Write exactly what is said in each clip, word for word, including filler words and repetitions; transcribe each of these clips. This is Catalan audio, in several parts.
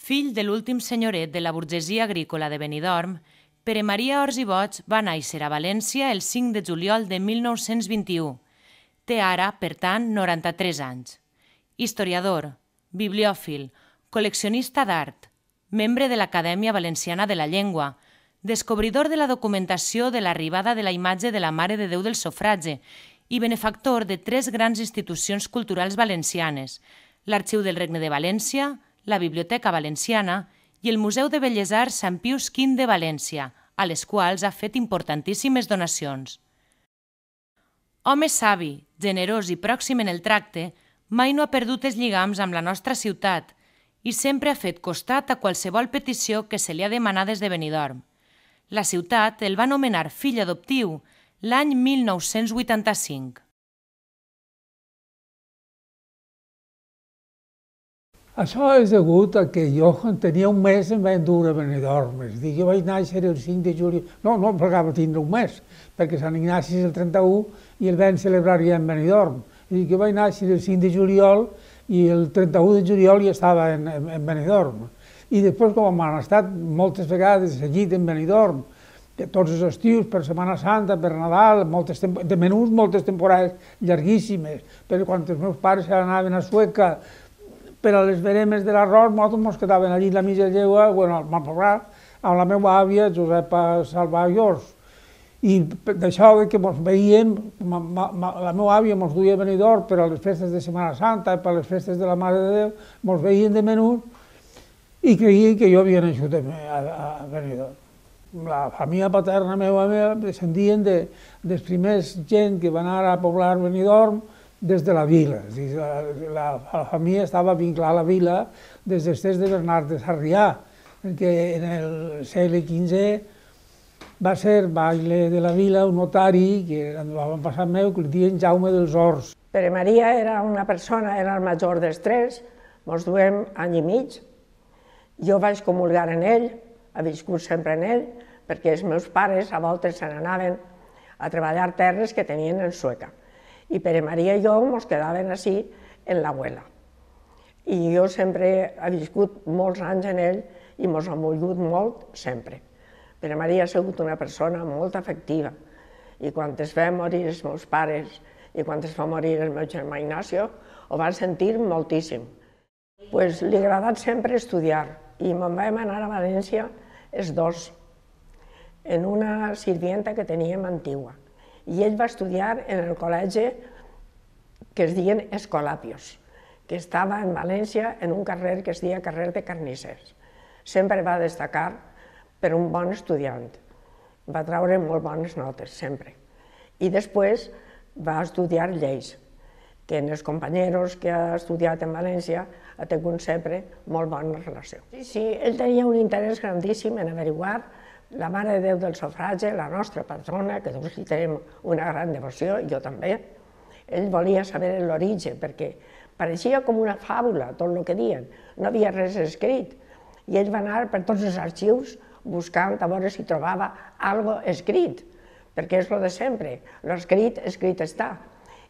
Fill de l'últim senyoret de la burgesia agrícola de Benidorm, Pere Maria Ors i Boig va néixer a València el cinc de juliol de mil nou-cents vint-i-u. Té ara, per tant, noranta-tres anys. Historiador, bibliòfil, col·leccionista d'art, membre de l'Acadèmia Valenciana de la Llengua, descobridor de la documentació de l'arribada de la imatge de la Mare de Déu del Sofragi i benefactor de tres grans institucions culturals valencianes, l'Arxiu del Regne de València, la Biblioteca Valenciana i el Museu de Belles Arts Sant Pius quinze de València, a les quals ha fet importantíssimes donacions. Home savi, generós i pròxim en el tracte, mai no ha perdut els lligams amb la nostra ciutat i sempre ha fet costat a qualsevol petició que se li ha demanat des de Benidorm. La ciutat el va nomenar fill adoptiu l'any mil nou-cents vuitanta-cinc. Això és degut a que jo, quan tenia un mes, em vaig endur a Benidorm. És a dir, jo vaig néixer el cinc de juliol... No, no em plegava tindre un mes, perquè Sant Ignasi és el trenta-u i el vam celebrar ja en Benidorm. És a dir, jo vaig néixer el cinc de juliol i el trenta-u de juliol ja estava en, en, en Benidorm. I després, com m'han estat moltes vegades seguit en Benidorm, tots els estius, per Setmana Santa, per Nadal, moltes de menús, moltes temporades llarguíssimes, però quan els meus pares anaven a Sueca per a les veremes de l'arròs, nosaltres ens quedaven allí a la mitja llegua, bueno, al Malpobrat, amb la meva àvia, Josepa Salvà Llors. I d'això que ens veiem, la meva àvia ens duia a Benidorm per a les festes de Setmana Santa, per a les festes de la Mare de Déu, ens veien de menús i creien que jo havia nascut a Benidorm. La família paterna meva descendien dels primers gent que van anar a poblar Benidorm des de la vila. La família estava vinculada a la vila des dels temps de Bernat de Sarrià, perquè en el segle quinze va ser baile de la vila un notari, que era l'avantpassat meu, que el deien Jaume dels Horts. Pere Maria era una persona, era el major dels tres, ens duem any i mig. Jo vaig comulgar en ell, he viscut sempre en ell, perquè els meus pares a voltes se n'anaven a treballar terres que tenien en Sueca. I Pere Maria i jo ens quedàvem així en l'abuela. I jo sempre he viscut molts anys en ell i ens ha volgut molt sempre. Pere Maria ha sigut una persona molt afectiva i quan es va morir els meus pares i quan es va morir el meu germà Ignacio ho van sentir moltíssim. Pues li ha agradat sempre estudiar i me'n vam anar a València els dos en una sirvienta que teníem antigua. I ell va estudiar en el col·legi que es deien Escolapios, que estava en València en un carrer que es deia carrer de Carnissers. Sempre va destacar per un bon estudiant, va treure molt bones notes, sempre. I després va estudiar lleis, que en els companyeros que ha estudiat en València ha tingut sempre molt bona relació. Sí, sí, ell tenia un interès grandíssim en averiguar la Mare de Déu del Sofragi, la nostra patrona, que tots hi tenim una gran devoció, jo també. Ell volia saber l'origen, perquè pareixia com una fàbula, tot el que diuen. No havia res escrit. I ell va anar per tots els arxius buscant a veure si trobava alguna cosa escrit, perquè és el de sempre. L'escrit, escrit està.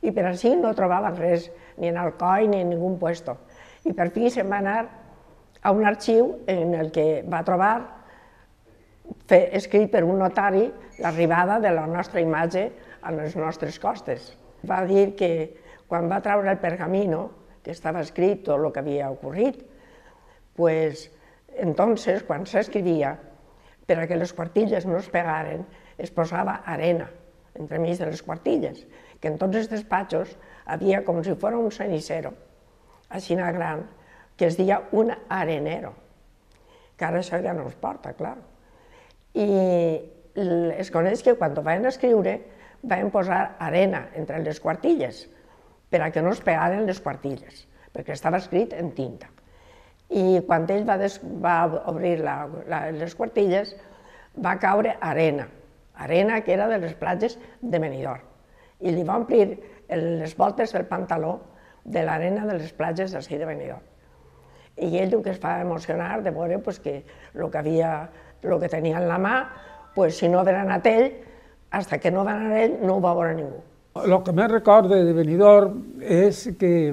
I per així no trobava res, ni en Alcoi ni en ningun puesto. I per fi se'n va anar a un arxiu en el que va trobar escrit per un notari l'arribada de la nostra imatge a les nostres costes. Va dir que quan va treure el pergamino, que estava escrit tot el que havia ocorrit, pues, entonces, quan s'escrivia, per a que les quartilles no es pegaren, es posava arena entremig de les quartilles, que en tots els despatxos havia com si fos un cenicero, així gran, que es deia un arenero, que ara això ja no es porta, clar. I es coneix que quan ho van escriure van posar arena entre les quartilles per a que no es pegaren les quartilles, perquè estava escrit en tinta. I quan ell va obrir les quartilles va caure arena, arena que era de les platges de Benidorm, i li va omplir les voltes del pantaló de l'arena de les platges d'ací de Benidorm. I ell el que es va emocionar de veure que el que havia el que tenia en la mà, si no havia anat ell, fins que no va anar ell, no ho va veure ningú. El que més recordo de Benidorm és que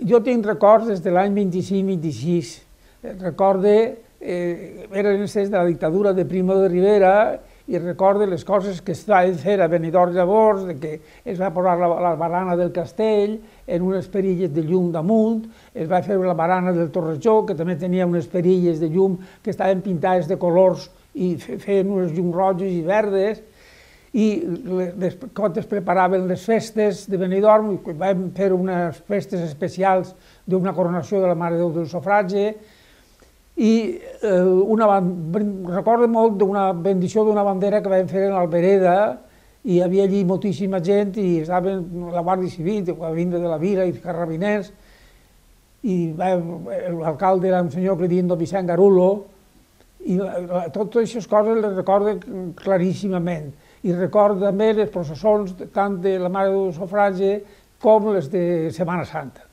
jo tinc records des de l'any vint-i-cinc vint-i-sis recorde, eh, eren els de la dictadura de Primo de Rivera, i recorde les coses que es van fer a Benidorm llavors, de que es va posar la, la barana del castell en unes perilles de llum damunt, es va fer la barana del Torrejó, que també tenia unes perilles de llum que estaven pintades de colors i feien unes llums roges i verdes, i les cotes preparaven les festes de Benidorm, i vam fer unes festes especials d'una coronació de la Mare de Déu del Sufragi, i una, recordo molt d'una bendició d'una bandera que vam fer a l'Albereda, i hi havia allí moltíssima gent, i estava la Guàrdia Civil, la vinda de la Vila i carrabiners, i l'alcalde era un senyor que li diuen Vicent Garulo, i totes aquestes coses les recordo claríssimament. I recordo també les processons tant de la Mare de Déu del Sufragi com les de Setmana Santa.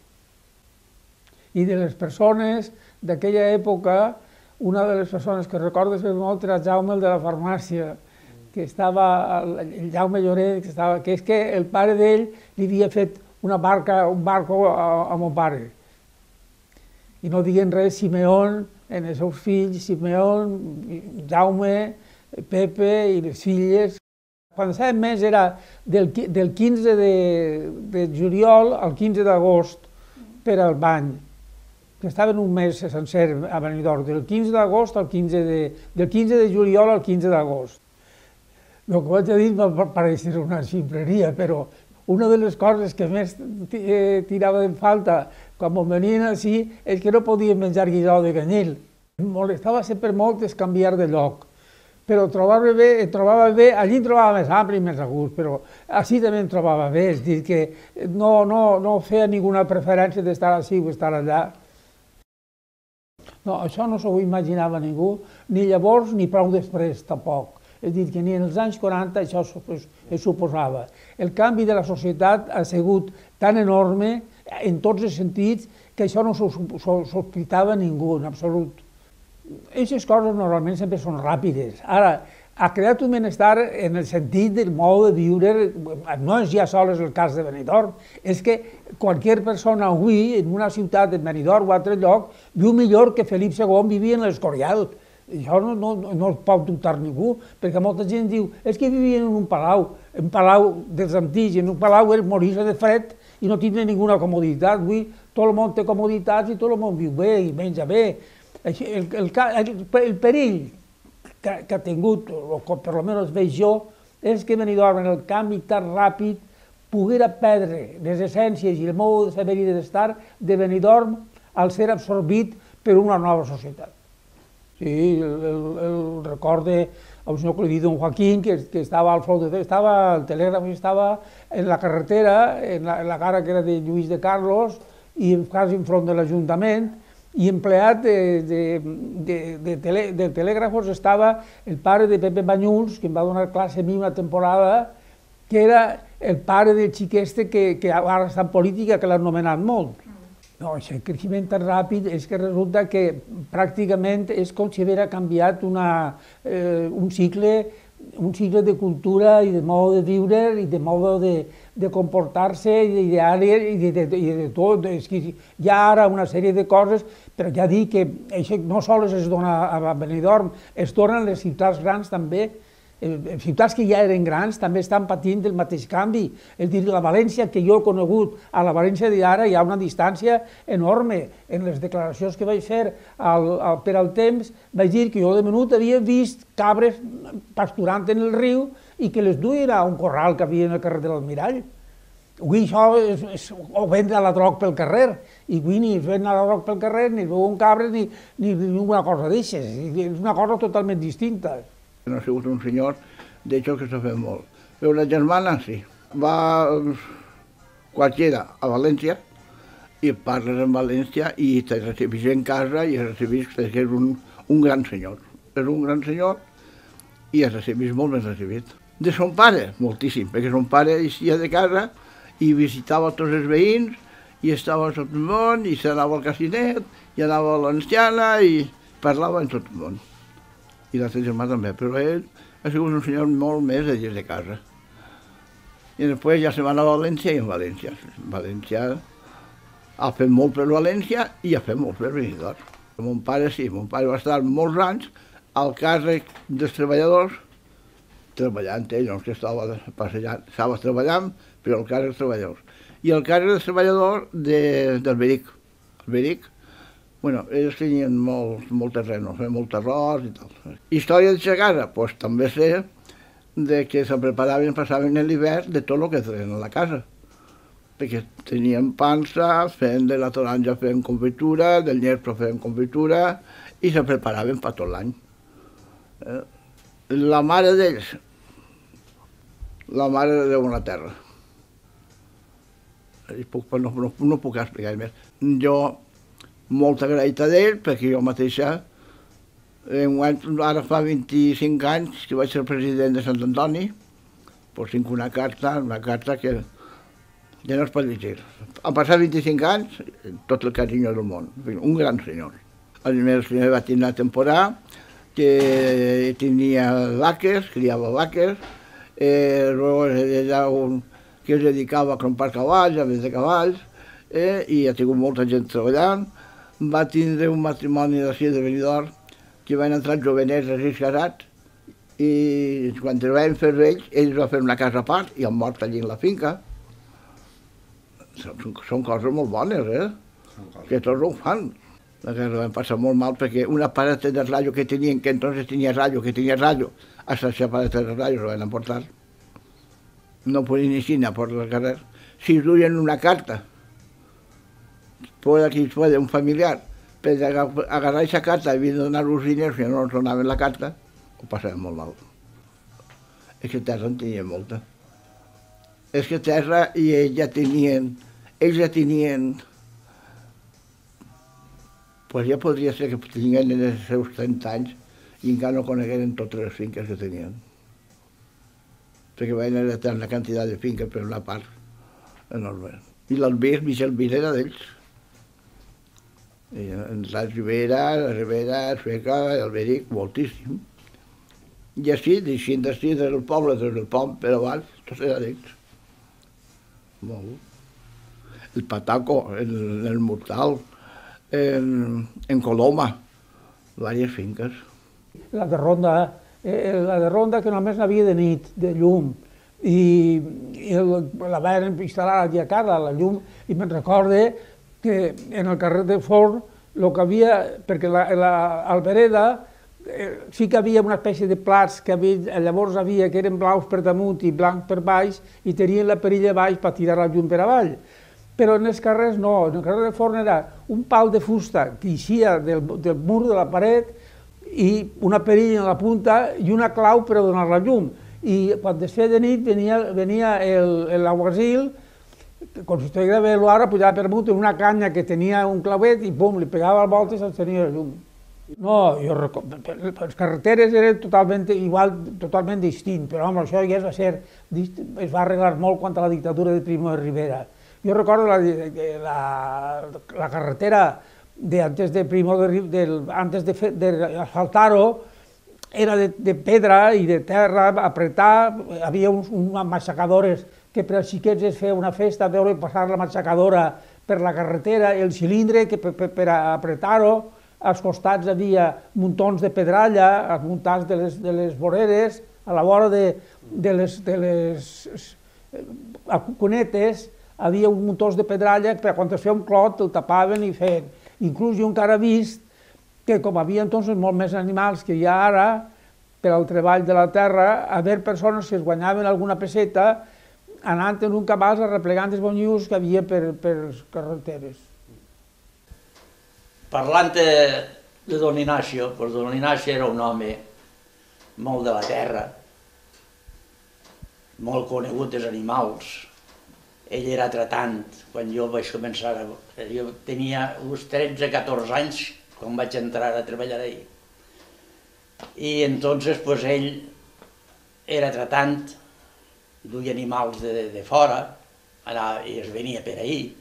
I de les persones d'aquella època, una de les persones que recordo molt era Jaume, el de la farmàcia, que estava, el Jaume Lloret, que, estava, que és que el pare d'ell li havia fet una barca, un barco a, a mon pare. I no diguen res, Simeón, en els seus fills, Simeón, Jaume, Pepe i les filles. Quan sabem més era del, del quinze de, de juliol al quinze d'agost per al bany, que estaven un mes sencer a Benidorm, del quinze d'agost al quinze de, del quinze de juliol al quinze d'agost. El que vaig a dir va parecer una ximpleria, però una de les coses que més tirava en falta quan em venien així és que no podien menjar guisau de canyil. Em molestava sempre molt es canviar de lloc, però trobava bé, trobava bé, allí em trobava més ampli i més a gust, però així també em trobava bé, és dir, que no, no, no feia ninguna preferència d'estar així o estar allà. No, això no s'ho imaginava ningú, ni llavors ni prou després tampoc. És dir, que ni en els anys quaranta això es suposava. El canvi de la societat ha sigut tan enorme, en tots els sentits, que això no s'ho sospitava ningú, en absolut. Aquestes coses normalment sempre són ràpides. Ara, ha creat un benestar en el sentit del mode de viure, no és ja sols el cas de Benidorm, és que qualsevol persona avui, en una ciutat de Benidorm o altre lloc, viu millor que Felip segon vivia en l'Escorial. Això no, no, no es pot dubtar ningú, perquè molta gent diu és que vivien en un palau, un palau dels antics, en un palau és morir-se de fred i no tindre ninguna comoditat. Avui tot el món té comoditats i tot el món viu bé i menja bé. El, el, el, el perill que, que ha tingut, o per almenys veig jo, és que Benidorm, en el canvi tan ràpid, poguera perdre les essències i el mode de saber i d'estar de Benidorm al ser absorbit per una nova societat. Sí, el, el, el recorde a un senyor que li diu don Joaquín, que, que estava al front, estava al telègraf, estava en la carretera, en la, en la cara que era de Lluís de Carlos, i quasi enfront de l'Ajuntament, i empleat de, de, de, de, tele, de telègrafos estava el pare de Pepe Banyuls, que em va donar classe a mi una temporada, que era el pare del xic este que, que ara està en política, que l'ha anomenat molt. No, aquest creixement tan ràpid és que resulta que pràcticament és com si haguera canviat una, eh, un, cicle, un cicle de cultura i de mode de viure i de mode de, de comportar-se i d'ideari i de, de, de, de tot. És que hi ha ara una sèrie de coses, però ja dic que això no sols es dona a Benidorm, es dona a les ciutats grans també. Les ciutats que ja eren grans també estan patint el mateix canvi. És dir, la València que jo he conegut a la València d'ara hi ha una distància enorme. En les declaracions que vaig fer al, al, per al temps vaig dir que jo de menut havia vist cabres pasturant en el riu i que les duien a un corral que havia en el carrer de l'Almirall. Avui això és, és, o vendre la droga pel carrer, i avui ni es ven la droga pel carrer, ni es veuen cabres, ni, ni, ni una cosa d'aixes. És una cosa totalment distinta. No ha sigut un senyor d'això que s'ha fet molt. Però la germana sí. Va qualsevol a València i parles en València i te recibís en casa i recibís perquè és un, un gran senyor. És un gran senyor i es recibís molt ben recibit. De son pare, moltíssim, perquè son pare eixia de casa i visitava tots els veïns i estava a tot el món i s'anava al casinet i anava a l'anciana i parlava en tot el món. I l'altre germà també, però ell ha sigut un senyor molt més de dins de casa. I després ja se va anar a València i en València. València ha fet molt per València i ha fet molt per Benidorm. Mon pare sí, mon pare va estar molts anys al càrrec dels treballadors, treballant ell, no és que estava passejant, estava treballant, però al càrrec dels treballadors. I el càrrec dels treballadors de, del Beric. El Beric, bueno, ells tenien molt, molt terreno, molt arròs i tal. Història de casa, doncs també sé de que se preparaven, passaven l'hivern de tot el que feien a la casa. Perquè tenien pansa, feien de la taronja, feien confitura, del nyerpro feien confitura, i se preparaven per tot l'any. Eh? La mare d'ells, la mare de Déu en la terra. Puc, no, no, no puc explicar més. Jo, molt agraït a ell, perquè jo mateixa, ara fa vint-i-cinc anys que vaig ser president de Sant Antoni, doncs tinc una carta, una carta que ja no es pot llegir. Han passat vint-i-cinc anys, tot el carinyo del món, un gran senyor. A més, va tenir una temporada que tenia vaques, criava vaques, eh, era un que es dedicava a comprar cavalls, a vendre cavalls, eh, i ha tingut molta gent treballant. Va tindre un matrimoni d'ací de Benidorm, que van entrar jovenets així casats, i quan es van fer vells, ells van fer una casa a part i han mort allí en la finca. Són, són coses molt bones, eh? Que tots ho fan. La guerra van passar molt mal perquè un aparat de ràdio que tenien, que entonces tenia ràdio, que tenia ràdio, hasta ese aparat de ràdio lo van emportar. No podien ni siquiera por el carrer. Si duien una carta, puede que puede un familiar, per agarrar aquesta carta i donar-los diners si no els donaven la carta, ho passaven molt mal. És que terra en tenien molta. És que terra i ells ja tenien, ells ja tenien, pues ja podria ser que tinguin els seus trenta anys i encara no conegueren totes les finques que tenien. Perquè van heretar una quantitat de finques per una part enorme. I l'Albir, Michel Vir era d'ells. La Ribera, la Ribera, el Sueca, el Beric, moltíssim. I així, deixint d'ací, des del poble, des del pont, per avall, tot era d'ells. Molt. El Pataco, el, el Mortal, en, en Coloma, diverses finques. La de Ronda, eh, la de Ronda que només n'havia de nit, de llum, i, i el, la van instal·lar allà a casa, la llum, i me'n recorde que en el carrer de Forn, el que havia, perquè la, la Albereda, eh, sí que havia una espècie de plats que havia, llavors havia que eren blaus per damunt i blancs per baix, i tenien la perilla baix per tirar la llum per avall. Però en els carrers no, en el carrer de Forn era un pal de fusta que eixia del, del mur de la paret i una perilla en la punta i una clau per a donar la llum. I quan es feia de nit venia, venia l'aguasil, com si estigués de velo ara, pujava per amunt en una canya que tenia un clavet i pum, li pegava al volta i s'encenia la llum. No, jo recordo, les carreteres eren totalment igual, totalment distint, però home, això ja es va ser, es va arreglar molt quan a la dictadura de Primo de Rivera. Jo recordo la, la, la carretera de antes de Primo de, de, antes de, de asfaltar-ho era de, de pedra i de terra, apretar, havia uns, unes matxacadores que per als xiquets es feia una festa, veure passar la matxacadora per la carretera, el cilindre que per, per, per apretar-ho, als costats havia muntons de pedralla, als muntants de les, de les voreres, a la vora de, de les, de les cunetes, havia uns muntons de pedralla que quan es feia un clot el tapaven i feien. Inclús jo encara he vist que com havia entonces molt més animals que hi ha ara, per al treball de la terra, haver persones que es guanyaven alguna peseta anant en un cabàs arreplegant els bonius que havia per, per les carreteres. Parlant de, de don Ignacio, doncs don Ignacio era un home molt de la terra, molt conegut dels animals. Ell era tratant, quan jo vaig començar, a, jo tenia uns tretze o catorze anys quan vaig entrar a treballar ahí. I entonces pues, ell era tratant, duia animals de, de fora, anava, i es venia per ahí.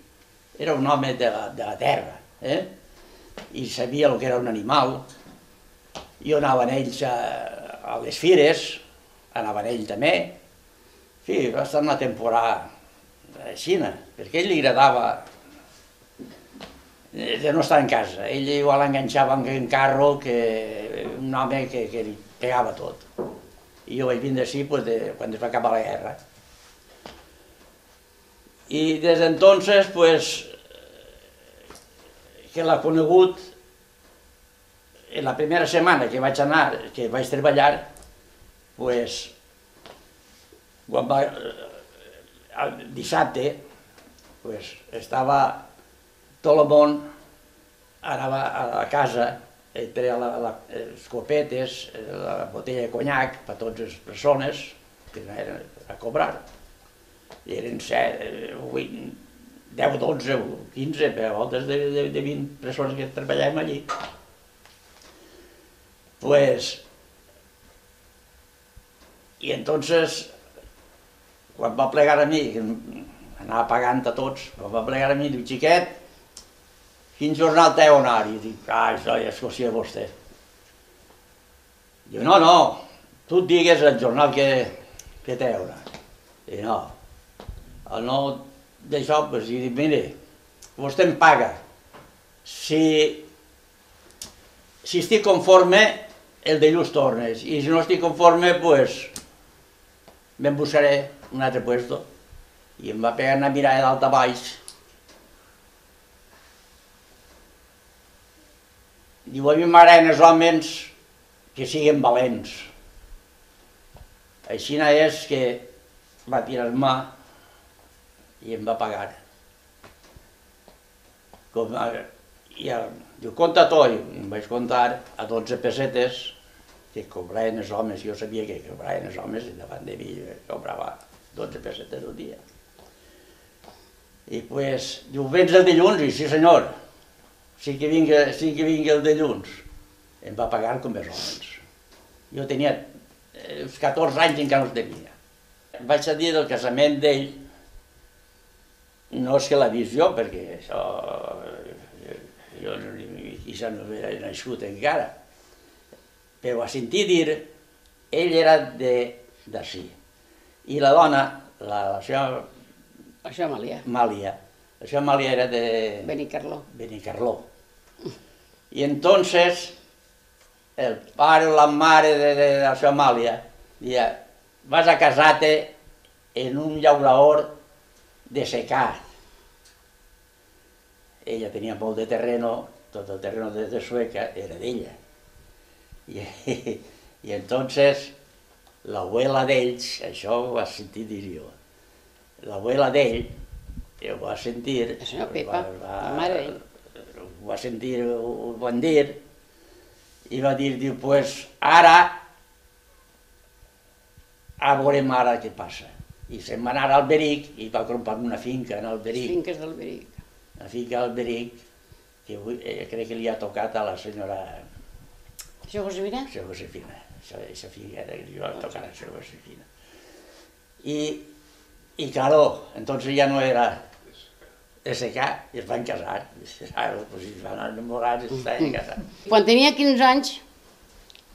Era un home de la, de la terra, eh? I sabia el que era un animal. Jo anaven ells a, a les fires, anaven ell també. Sí, va estar una temporada així, perquè a ell li agradava de no estar en casa. Ell igual enganxava en carro, que un home que, que li pegava tot. I jo vaig vindre així pues, de, quan es va acabar la guerra. I des d'entonces, pues, que l'ha conegut, en la primera setmana que vaig anar, que vaig treballar, pues, quan va, el dissabte, pues, estava tot el món, anava a la casa, ell treia la, la, les copetes, la botella de conyac per a totes les persones que anaven a cobrar. I eren set, vuit, deu, dotze, quinze, per voltes de, de, de vint persones que treballàvem allí. Pues, i entonces, quan va plegar a mi, que anava pagant a tots, quan va plegar a mi, diu, xiquet, quin jornal t'heu anar? I dic, ah, això ja és qüestió de vostè. Diu, no, no, tu et digues el jornal que, que t'heu anar. I no, el no d'això, doncs, i dic, mire, vostè em paga. Si, si estic conforme, el dilluns tornes, i si no estic conforme, doncs, me'n buscaré un altre puesto. I em va pegar una mirada d'alt a baix. Diu, a mi m'agraden els homes que siguin valents. Així és que va tirar-me i em va pagar. Com, i el, diu, compta tot, i em vaig comptar a dotze pessetes que cobraven els homes. Jo sabia que cobraven els homes i davant de mi cobrava dotze pessetes al dia. I pues, diu, vens el dilluns? I sí senyor. Sí que vingui, sí que vingui el dilluns. Em va pagar com els homes. Jo tenia uns catorze anys i encara no els tenia. Vaig a dir del casament d'ell, no és que l'ha vist jo, perquè això... jo quizà no havia nascut encara, però a sentir dir, ell era d'ací. I la dona, la, la seva... La seva Amàlia. Amàlia. La seva Amàlia era de... Benicarló. Benicarló. I entonces, el pare o la mare de, de la seva Amàlia deia, vas a casar-te en un llaurador de secà. Ella tenia molt de terreno, tot el terreno de, de Sueca era d'ella. I, i entonces, l'abuela d'ells, això ho va sentir dir jo, l'abuela d'ell, ho va sentir... La senyora Pepa, la mare d'ell. Ho va sentir, ho van dir, i va dir, diu, pues ara, a veurem ara què passa. I se'n va anar al Alberic i va comprar una finca en Alberic. Les finques d'Alberic. Una finca a Alberic, que eh, crec que li ha tocat a la senyora... Això Josefina? Això Josefina. Aquesta finca li va tocar a la senyora Josefina. I, i claro, entonces ja no era de secar, i es van casar. Pues, es van enamorar i estaven casats. Quan tenia quinze anys,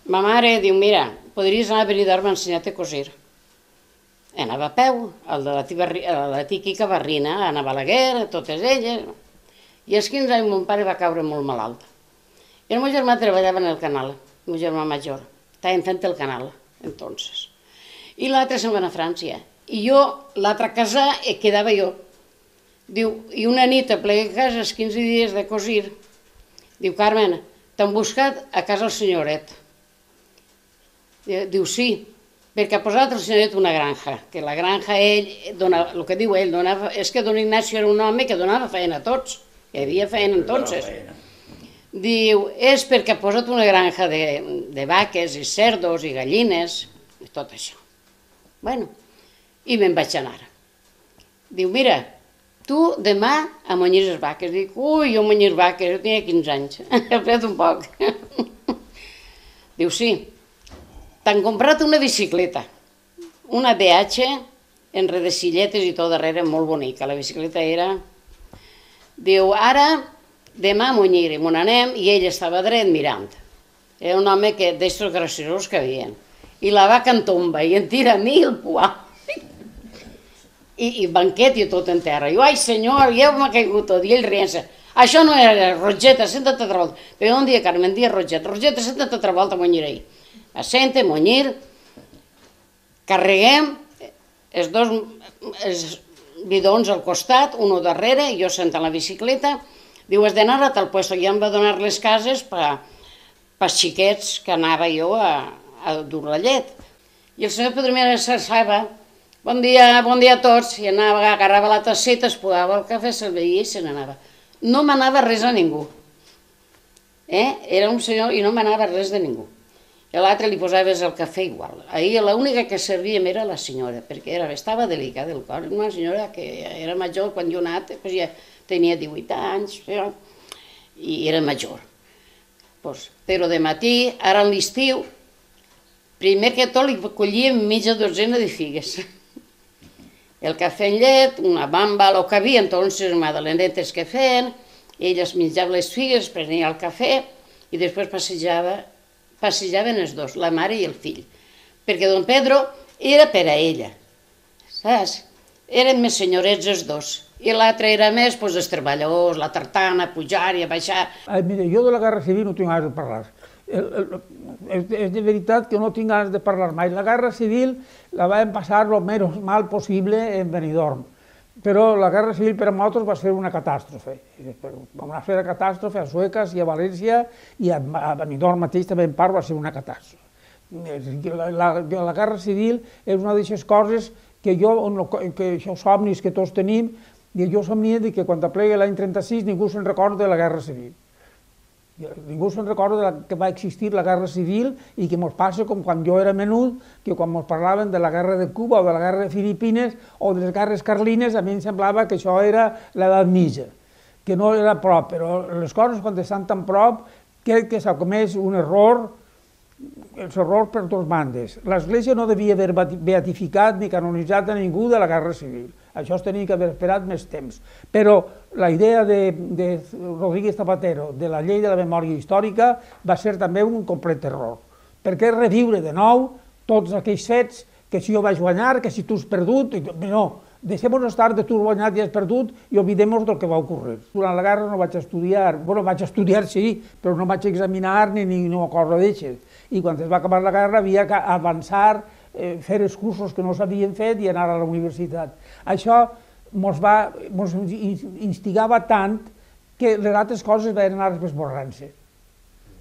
ma mare diu, mira, podries anar a Benidorm a ensenyar-te a cosir. Anava a peu, el de la, tibarri, la Quica Barrina, Anna Balaguer, totes elles. I als quinze anys mon pare va caure molt malalt. I el meu germà treballava en el canal, el meu germà major. Estàvem fent el canal, entonces. I l'altre se'n va anar a França. I jo, l'altra casa, quedava jo. Diu, i una nit a plegar a casa, els quinze dies de cosir, diu, Carmen, t'han buscat a casa el senyoret. Diu, sí, perquè ha posat el senyoret una granja, que la granja, ell, dona, el que diu ell, donava, és que don Ignacio era un home que donava feina a tots, hi havia feina entonces. Diu, és perquè ha posat una granja de, de vaques i cerdos i gallines, i tot això. Bueno, i me'n vaig anar. Diu, mira, tu demà a munyir les vaques. Dic, ui, jo munyir vaques, jo tenia quinze anys, he fet un poc. Diu, sí, t'han comprat una bicicleta, una D H, en redecilletes i tot darrere, molt bonica. La bicicleta era... Diu, ara, demà a munyir, i m'on anem, i ell estava dret mirant. Era un home que d'estos graciosos que havien. I la vaca en tomba, i en tira a mi el poà. I, i banquet i tot en terra. Jo, ai senyor, ja m'ha caigut tot. I ell rient-se, Això no era Rogeta, senta't altra volta. Però un dia Carmen dia Rogeta, Rogeta, senta't altra volta a Moñirei. Assente, Moñir, carreguem els dos els bidons al costat, un darrere, jo sent a la bicicleta, diu, has d'anar a tal puesto, i em va donar les cases per als xiquets que anava jo a, a dur la llet. I el senyor Pedromera s'alçava, bon dia, bon dia a tots, i anava, agarrava la tasseta, es posava el cafè, se'l veia i se n'anava. No manava res a ningú. Eh? Era un senyor i no manava res de ningú. I a l'altre li posaves el cafè igual. Ahir l'única que servíem era la senyora, perquè era, estava delicada del cor. Una senyora que era major, quan jo anat, pues ja tenia divuit anys, però, i era major. Pues, però de matí, ara a l'estiu, primer que tot li collíem mitja dotzena de figues. El cafè en llet, una bamba, el que havia, entonces madalenetes que feien, ella es menjava les figues, prenia el cafè i després passejava, passejaven els dos, la mare i el fill. Perquè don Pedro era per a ella, saps? Eren més senyorets els dos. I l'altre era més, doncs, els treballadors, la tartana, pujar i baixar. Ai, mira, jo de la Guerra Civil no tinc ganes de parlar. El, el, és, és de veritat que no tinc ganes de parlar mai. La Guerra Civil la vam passar el més mal possible en Benidorm, però la Guerra Civil per a nosaltres va ser una catàstrofe. Vam fer la catàstrofe a Sueques i a València, i a, a Benidorm mateix també en part va ser una catàstrofe. La, la, la Guerra Civil és una d'aquestes coses que jo, que els somnis que tots tenim, i jo somnia que quan aplega l'any trenta-sis ningú se'n recorda de la Guerra Civil. Ningú se'n recorda de la, que va existir la Guerra Civil i que ens passa com quan jo era menut, que quan ens parlaven de la Guerra de Cuba o de la Guerra de Filipines o de les guerres carlines, a mi em semblava que això era l'edat mitja, que no era prop, però les coses quan estan tan prop crec que s'ha comès un error, els errors per totes bandes. L'Església no devia haver beatificat ni canonitzat a ningú de la Guerra Civil. Això es tenia que haver esperat més temps. Però la idea de, de Rodríguez Zapatero de la llei de la memòria històrica va ser també un complet error. Per què reviure de nou tots aquells fets que si jo vaig guanyar, que si tu has perdut... No, deixem-nos estar de tu has guanyat i has perdut i oblidem-nos del que va ocórrer. Durant la guerra no vaig estudiar, bueno, vaig estudiar sí, però no vaig examinar ni, ni una cosa d'aixes. I quan es va acabar la guerra havia que avançar, eh, fer els cursos que no s'havien fet i anar a la universitat. Això ens va, ens instigava tant que les altres coses van anar esborrant-se.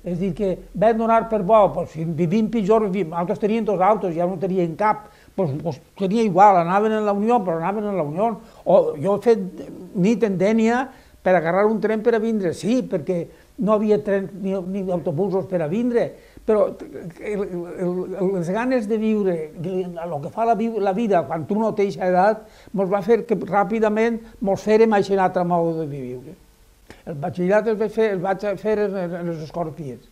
És a dir, que vam donar per bo, doncs, si vivim pitjor, nosaltres tenien dos autos, ja no tenien cap, doncs, doncs tenia igual, anaven en la Unió, però anaven en la Unió. O jo he fet nit en Dénia per agarrar un tren per a vindre, sí, perquè no havia tren ni, ni autobusos per a vindre, però el, el, les ganes de viure, el que fa la, la vida quan tu no tens edat, ens va fer que ràpidament ens fèrem aquest altre mode de viure. El batxillerat el vaig fer, el vaig fer en les escorpies.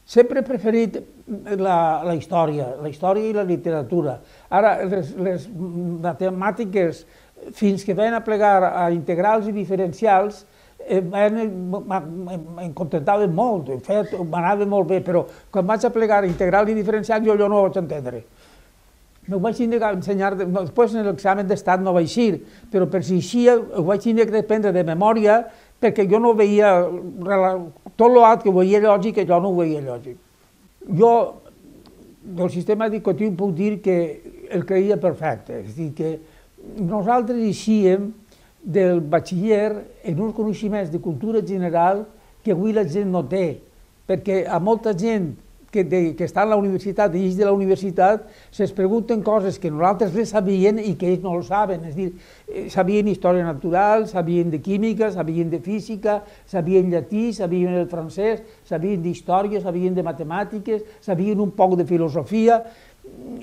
Sempre he preferit la, la història, la història i la literatura. Ara, les, les matemàtiques, fins que van a plegar a integrals i diferencials, em contentaven molt, en fet, m'anava molt bé, però quan vaig a plegar integral i diferencial jo allò no ho vaig entendre. M'ho vaig tindre que ensenyar, després en l'examen d'estat no vaig eixir, però per si eixia ho vaig tindre que aprendre de memòria perquè jo no veia, tot l'altre que ho veia lògic, jo no ho veia lògic. Jo del sistema educatiu puc dir que el creia perfecte, és a dir, que nosaltres eixíem del batxiller en uns coneixements de cultura general que avui la gent no té, perquè a molta gent que, de, que està a la universitat i ells de la universitat se'ls pregunten coses que nosaltres les sabien i que ells no ho saben, és a dir, sabien història natural, sabien de química, sabien de física, sabien llatí, sabien el francès, sabien d'història, sabien de matemàtiques, sabien un poc de filosofia.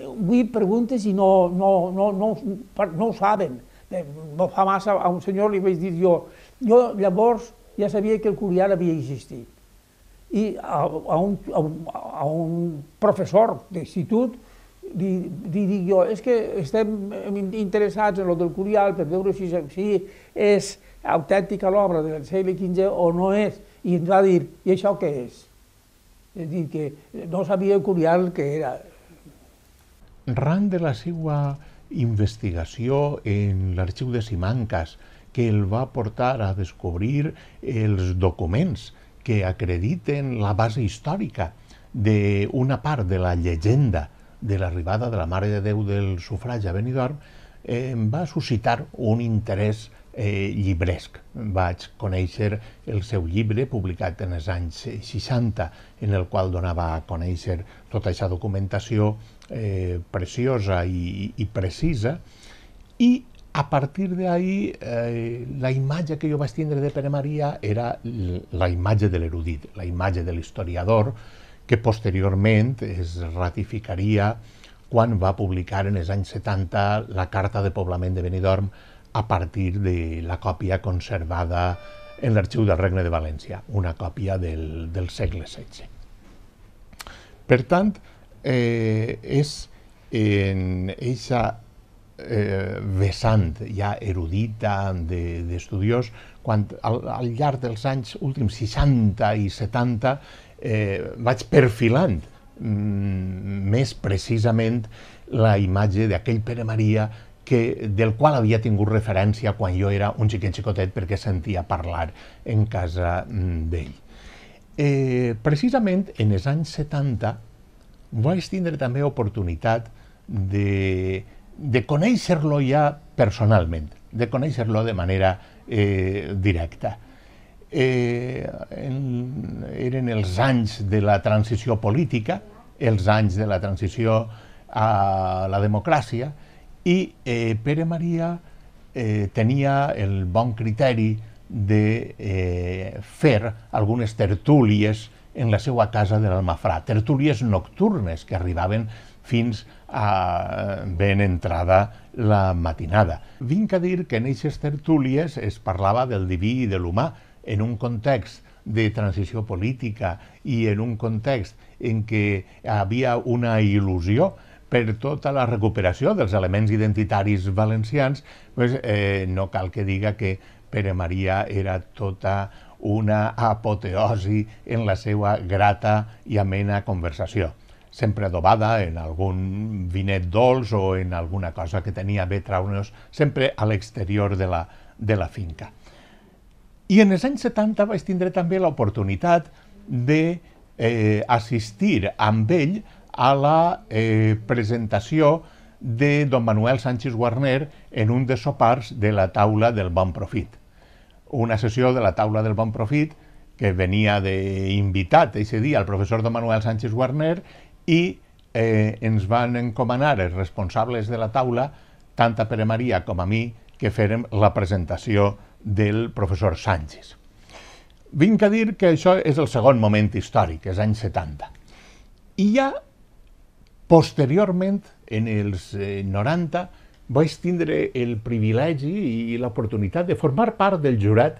Avui preguntes i no, no, no, no, no ho saben. No fa massa a un senyor li vaig dir jo, jo llavors ja sabia que el Curial havia existit. I a, a, un, a, un, a un professor d'institut li, li dic jo, és que estem interessats en el del Curial per veure si, si és autèntica l'obra del segle quinze o no és. I ens va dir, i això què és? És a dir, que no sabia el Curial què era. Ran de la seva investigació en l'arxiu de Simancas, que el va portar a descobrir els documents que acrediten la base històrica d'una part de la llegenda de l'arribada de la Mare de Déu del Sufragi a Benidorm, eh, em va suscitar un interès eh, llibresc. Vaig conèixer el seu llibre, publicat en els anys seixanta, en el qual donava a conèixer tota aquesta documentació eh, preciosa i, i precisa, i a partir d'ahí eh, la imatge que jo vaig tindre de Pere Maria era la imatge de l'erudit, la imatge de l'historiador, que posteriorment es ratificaria quan va publicar en els anys setanta la Carta de Poblament de Benidorm a partir de la còpia conservada en l'Arxiu del Regne de València, una còpia del, del segle setze. Per tant, eh, és en aquesta eh, vessant ja erudita d'estudiós, quan al, al llarg dels anys últims seixanta i setanta eh, vaig perfilant mm, més precisament la imatge d'aquell Pere Maria que, del qual havia tingut referència quan jo era un xiquet xicotet perquè sentia parlar en casa mm, d'ell. Eh, precisament en els anys setanta vaig tindre també oportunitat de, de conèixer-lo ja personalment, de conèixer-lo de manera eh, directa. Eh, en, eren els anys de la transició política, els anys de la transició a la democràcia, i eh, Pere Maria eh, tenia el bon criteri de eh, fer algunes tertúlies en la seva casa de l'Almafrà, tertúlies nocturnes que arribaven fins a ben entrada la matinada. Vinc a dir que en aquestes tertúlies es parlava del diví i de l'humà en un context de transició política i en un context en què havia una il·lusió per tota la recuperació dels elements identitaris valencians, pues, eh, no cal que diga que Pere Maria era tota una apoteosi en la seva grata i amena conversació, sempre adobada en algun vinet dolç o en alguna cosa que tenia bé traure'ns sempre a l'exterior de la, de la finca. I en els anys setanta vaig tindre també l'oportunitat d'assistir eh, amb ell a la eh, presentació de don Manuel Sánchez Guarner en un dels sopars de la taula del Bon Profit. Una sessió de la taula del Bon Profit que venia d'invitat aquest dia el professor don Manuel Sánchez Guarner i eh, ens van encomanar els responsables de la taula, tant a Pere Maria com a mi, que fèrem la presentació del professor Sánchez. Vinc a dir que això és el segon moment històric, els anys setanta. I ja posteriorment, en els eh, noranta, vaig tindre el privilegi i l'oportunitat de formar part del jurat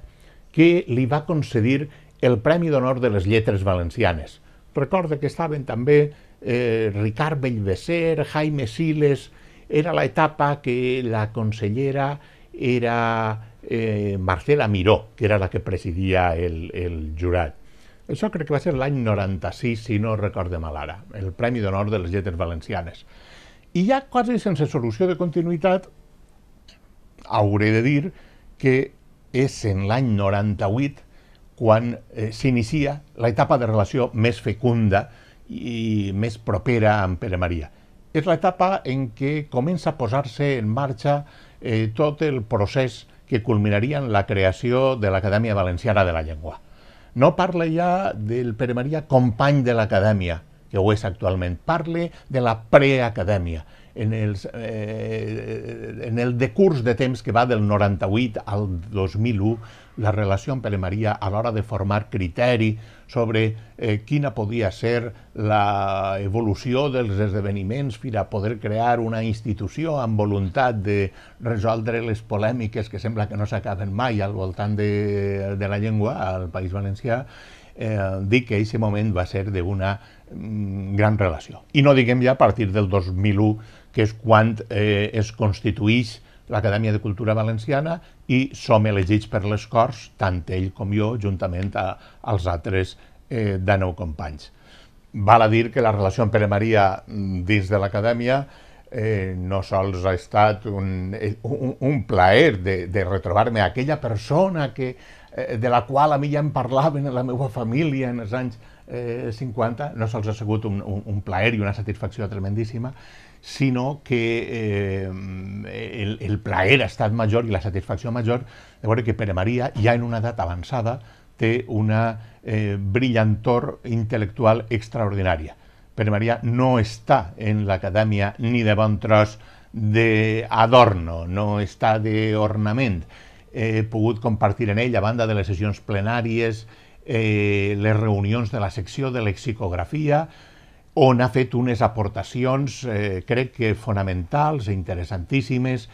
que li va concedir el Premi d'Honor de les Lletres Valencianes. Recordo que estaven també eh, Ricard Bellveser, Jaime Siles, era l'etapa que la consellera era eh, Marcela Miró, que era la que presidia el, el jurat. Això crec que va ser l'any noranta-sis, si no recorde mal ara, el Premi d'Honor de les Lletres Valencianes. I ja quasi sense solució de continuïtat, hauré de dir que és en l'any noranta-vuit quan eh, s'inicia l'etapa de relació més fecunda i més propera amb Pere Maria. És l'etapa en què comença a posar-se en marxa eh, tot el procés que culminaria en la creació de l'Acadèmia Valenciana de la Llengua. No parla ja del Pere Maria company de l'Acadèmia, que ho és actualment, parla de la preacadèmia. En, els, eh, en el decurs de temps que va del noranta-vuit al dos mil u, la relació amb Pere Maria a l'hora de formar criteri sobre eh, quina podia ser l'evolució dels esdeveniments fins a poder crear una institució amb voluntat de resoldre les polèmiques que sembla que no s'acaben mai al voltant de, de la llengua al País Valencià, eh, dic que aquest moment va ser d'una mm, gran relació. I no diguem ja a partir del dos mil u, que és quan eh, es constituïx l'Acadèmia de Cultura Valenciana i som elegits per les Corts, tant ell com jo, juntament a, als altres eh, dinou companys. Val a dir que la relació amb Pere Maria dins de l'Acadèmia eh, no sols ha estat un, un, un plaer de, de retrobar-me aquella persona que, eh, de la qual a mi ja em parlaven en la meva família en els anys eh, cinquanta, no sols ha sigut un, un, un plaer i una satisfacció tremendíssima, sinó que eh, el, el plaer ha estat major i la satisfacció major de veure que Pere Maria, ja en una edat avançada, té una eh, brillantor intel·lectual extraordinària. Pere Maria no està en l'acadèmia ni de bon tros d'adorno, no està d'ornament. He pogut compartir en ell, a banda de les sessions plenàries, eh, les reunions de la secció de lexicografia, on ha fet unes aportacions, eh, crec que fonamentals i interessantíssimes,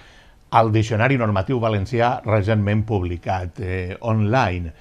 al Diccionari Normatiu Valencià recentment publicat eh, online.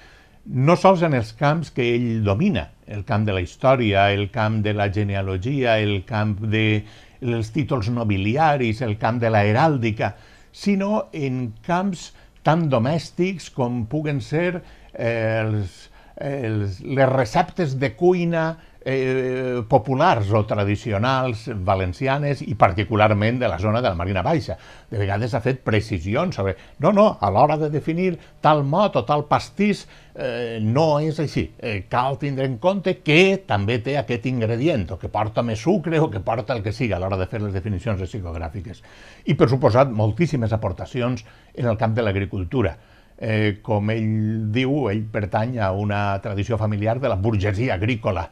No sols en els camps que ell domina, el camp de la història, el camp de la genealogia, el camp dels títols nobiliaris, el camp de la heràldica, sinó en camps tan domèstics com puguen ser eh, els, els, les receptes de cuina eh, populars o tradicionals valencianes i particularment de la zona de la Marina Baixa. De vegades ha fet precisions sobre no, no, a l'hora de definir tal mot o tal pastís eh, no és així. Eh, cal tindre en compte que també té aquest ingredient o que porta més sucre o que porta el que sigui a l'hora de fer les definicions lexicogràfiques. I per suposat moltíssimes aportacions en el camp de l'agricultura. Eh, com ell diu, ell pertany a una tradició familiar de la burgesia agrícola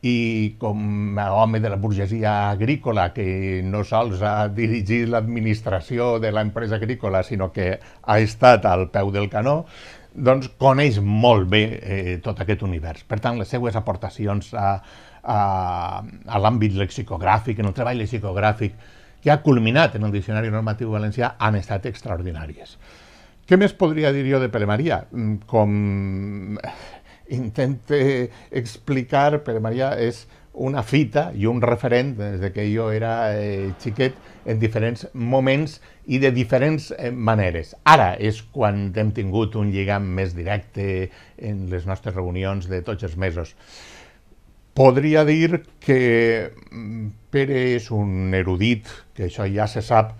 i com a home de la burgesia agrícola que no sols ha dirigit l'administració de l'empresa agrícola sinó que ha estat al peu del canó, doncs coneix molt bé eh, tot aquest univers. Per tant, les seues aportacions a, a, a l'àmbit lexicogràfic, en el treball lexicogràfic que ha culminat en el Diccionari Normatiu Valencià han estat extraordinàries. Què més podria dir jo de Pere Maria? Com intente explicar, Pere Maria és una fita i un referent des que jo era eh, xiquet en diferents moments i de diferents eh, maneres. Ara és quan hem tingut un lligam més directe en les nostres reunions de tots els mesos. Podria dir que Pere és un erudit, que això ja se sap,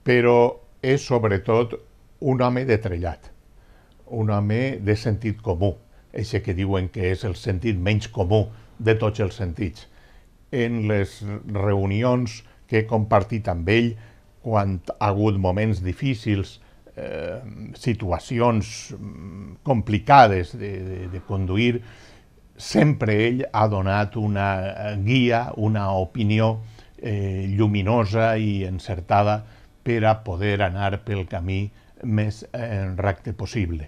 però és sobretot un home de trellat, un home de sentit comú. Això que diuen que és el sentit menys comú de tots els sentits. En les reunions que he compartit amb ell, quan ha hagut moments difícils, eh, situacions complicades de, de, de conduir, sempre ell ha donat una guia, una opinió eh, lluminosa i encertada per a poder anar pel camí més eh, recte possible.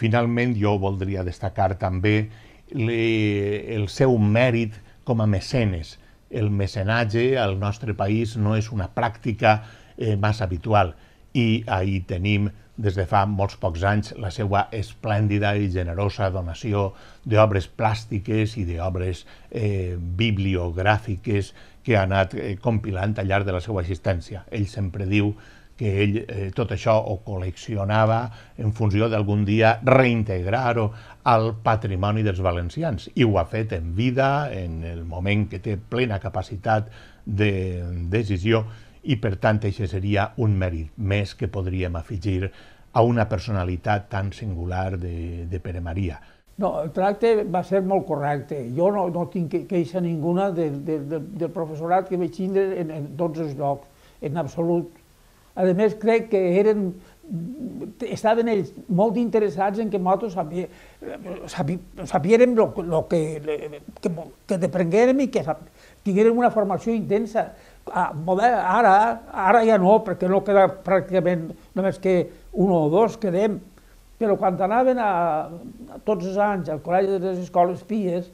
Finalment, jo voldria destacar també le, el seu mèrit com a mecenes. El mecenatge al nostre país no és una pràctica eh, massa habitual i ahí tenim des de fa molts pocs anys la seva esplèndida i generosa donació d'obres plàstiques i d'obres eh, bibliogràfiques que ha anat eh, compilant al llarg de la seva existència. Ell sempre diu que ell eh, tot això ho col·leccionava en funció d'algun dia reintegrar-ho al patrimoni dels valencians. I ho ha fet en vida, en el moment que té plena capacitat de decisió, i per tant això seria un mèrit més que podríem afegir a una personalitat tan singular de, de Pere Maria. No, el tracte va ser molt correcte. Jo no, no tinc queixa ninguna de, de, de, del professorat que vaig tindre en, en tots els llocs, en absolut. A més, crec que eren, estaven ells molt interessats en que nosaltres sabiérem el que, que, que deprenguérem i que tinguérem una formació intensa. Ara, ara ja no, perquè no queda pràcticament només que un o dos quedem, però quan anaven a, a tots els anys al col·legi de les escoles pies,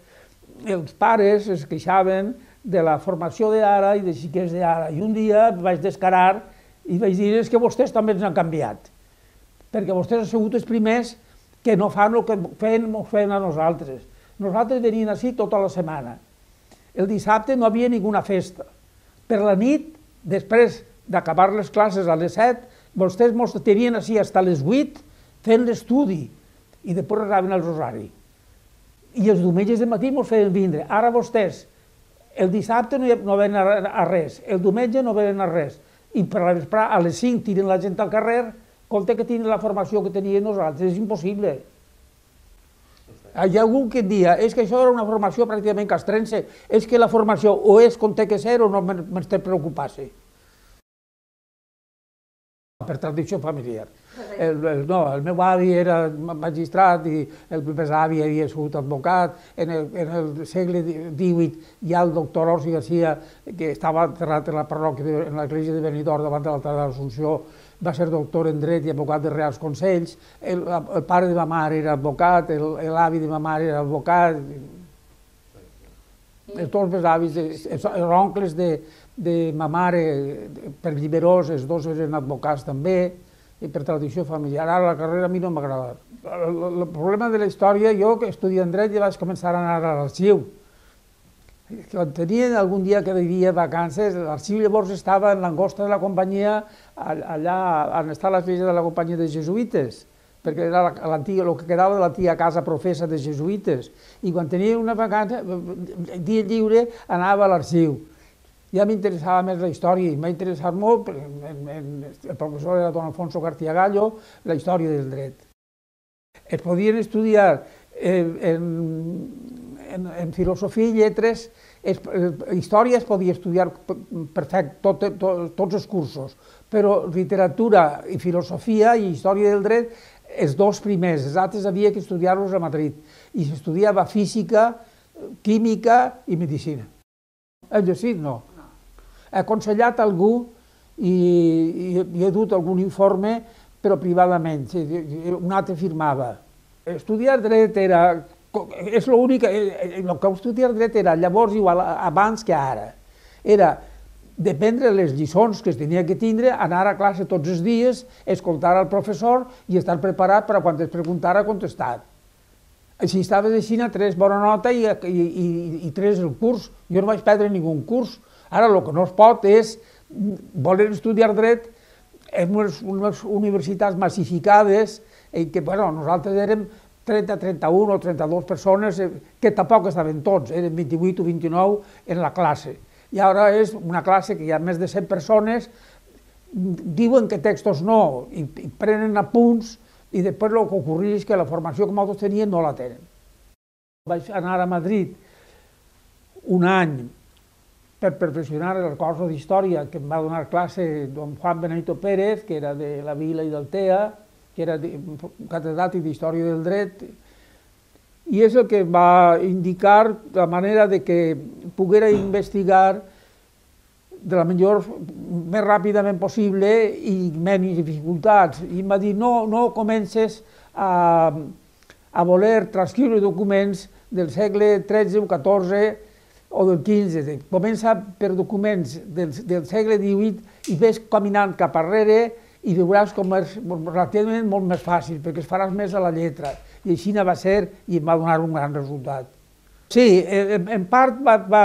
els pares es queixaven de la formació d'ara i de xiquets d'ara. I un dia vaig descarar i vaig dir és que vostès també ens han canviat, perquè vostès han sigut els primers que no fan el que feien, feien a nosaltres. Nosaltres venien així tota la setmana. El dissabte no havia ninguna festa. Per la nit, després d'acabar les classes a les set, vostès ens tenien així fins a les vuit fent l'estudi i després rezaven el rosari. I els diumenges de matí ens feien vindre. Ara vostès El dissabte no, no venen a, a res, el diumenge no venen a res, i per la vesprada a les cinc tiren la gent al carrer, compte que tenen la formació que tenien nosaltres, és impossible. Hi ha algú que dia, és que això era una formació pràcticament castrense, és que la formació o és com té que ser o no m'és de preocupar-se. Per tradició familiar. El, el, no, el meu avi era magistrat i el besavi havia sigut advocat. En el, en el segle divuit hi ha el doctor Orsi Garcia, que estava enterrat en la parròquia, de, en l'església de Benidorm, davant de l'altar de l'Assumpció, va ser doctor en dret i advocat de Reals Consells. El, el pare de ma mare era advocat, l'avi de ma mare era advocat. Els dos besavis, els oncles de, de ma mare, per Lliberós, els dos eren advocats també, i per tradició familiar. Ara la carrera a mi no m'ha agradat. El, el problema de la història, jo que estudiant dret ja vaig començar a anar a l'arxiu. Quan tenien algun dia que vivia vacances, l'arxiu llavors estava en l'angosta de la companyia, allà on està l'església de la companyia de jesuïtes, perquè era el que quedava de l'antiga casa professa de jesuïtes. I quan tenia una vacança, dia lliure, anava a l'arxiu. Ja m'interessava més la història i m'ha interessat molt, el professor era don Alfonso García Gallo, la història del dret. Es podien estudiar en, en, en filosofia i lletres, es, història es podia estudiar perfecte, tot, tot, tots els cursos, però literatura i filosofia i història del dret, els dos primers, els altres havia que estudiar-los a Madrid, i s'estudiava física, química i medicina. El llegit no. He aconsellat algú i, i, i he dut algun informe, però privadament, un altre firmava. Estudiar dret era, és l'únic, el que estudiar dret era llavors igual abans que ara. Era dependre les lliçons que es tenia que tindre, anar a classe tots els dies, escoltar al professor i estar preparat per a quan es preguntara contestar. Si estaves així, tres bona nota i, i, i, i tres el curs. Jo no vaig perdre ningú curs. Ara el que no es pot és voler estudiar dret en unes, unes universitats massificades en què bueno, nosaltres érem trenta, trenta-un o trenta-dues persones que tampoc estaven tots, eren vint-i-vuit o vint-i-nou en la classe. I ara és una classe que hi ha més de cent persones, diuen que textos no, i, i prenen apunts, i després el que ocorria és que la formació que nosaltres teníem no la tenen. Vaig anar a Madrid un any per perfeccionar el curs d'història que em va donar classe don Juan Benito Pérez, que era de la Vila i d'Altea, que era catedràtic d'Història del Dret, i és el que va indicar la manera de que poguera investigar de la millor, més ràpidament possible i menys dificultats. I em va dir, no, no comences a, a voler transcriure documents del segle tretze o catorze o del quinze. Comença per documents del, del segle divuit i ves caminant cap arrere i veuràs com és relativament molt més fàcil, perquè es faràs més a la lletra. I així va ser i em va donar un gran resultat. Sí, en, en part va, va,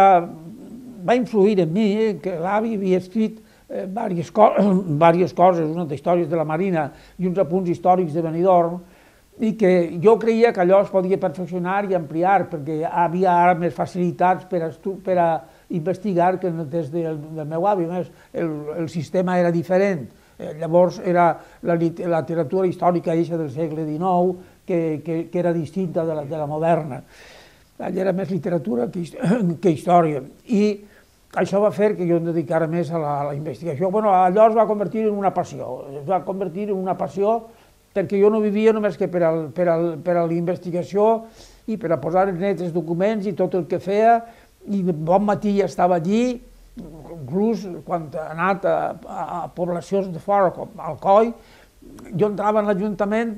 va influir en mi, eh, que l'avi havia escrit eh, diverses, co diverses coses, unes històries de la Marina i uns apunts històrics de Benidorm, i que jo creia que allò es podia perfeccionar i ampliar, perquè havia ara més facilitats per a, per a investigar que des del, del meu avi. El, el sistema era diferent. Llavors era la, la literatura històrica eixa del segle dinou, que, que, que era distinta de la, de la moderna. Allà era més literatura que, que història. I això va fer que jo em dedicara més a la, a la investigació. Bueno, allò es va convertir en una passió. Es va convertir en una passió perquè jo no vivia només que per, al, per, al, per a la investigació i per a posar en net els documents i tot el que feia, i bon matí ja estava allí, inclús quan he anat a, a, a poblacions de fora, com Alcoi, jo entrava en l'Ajuntament,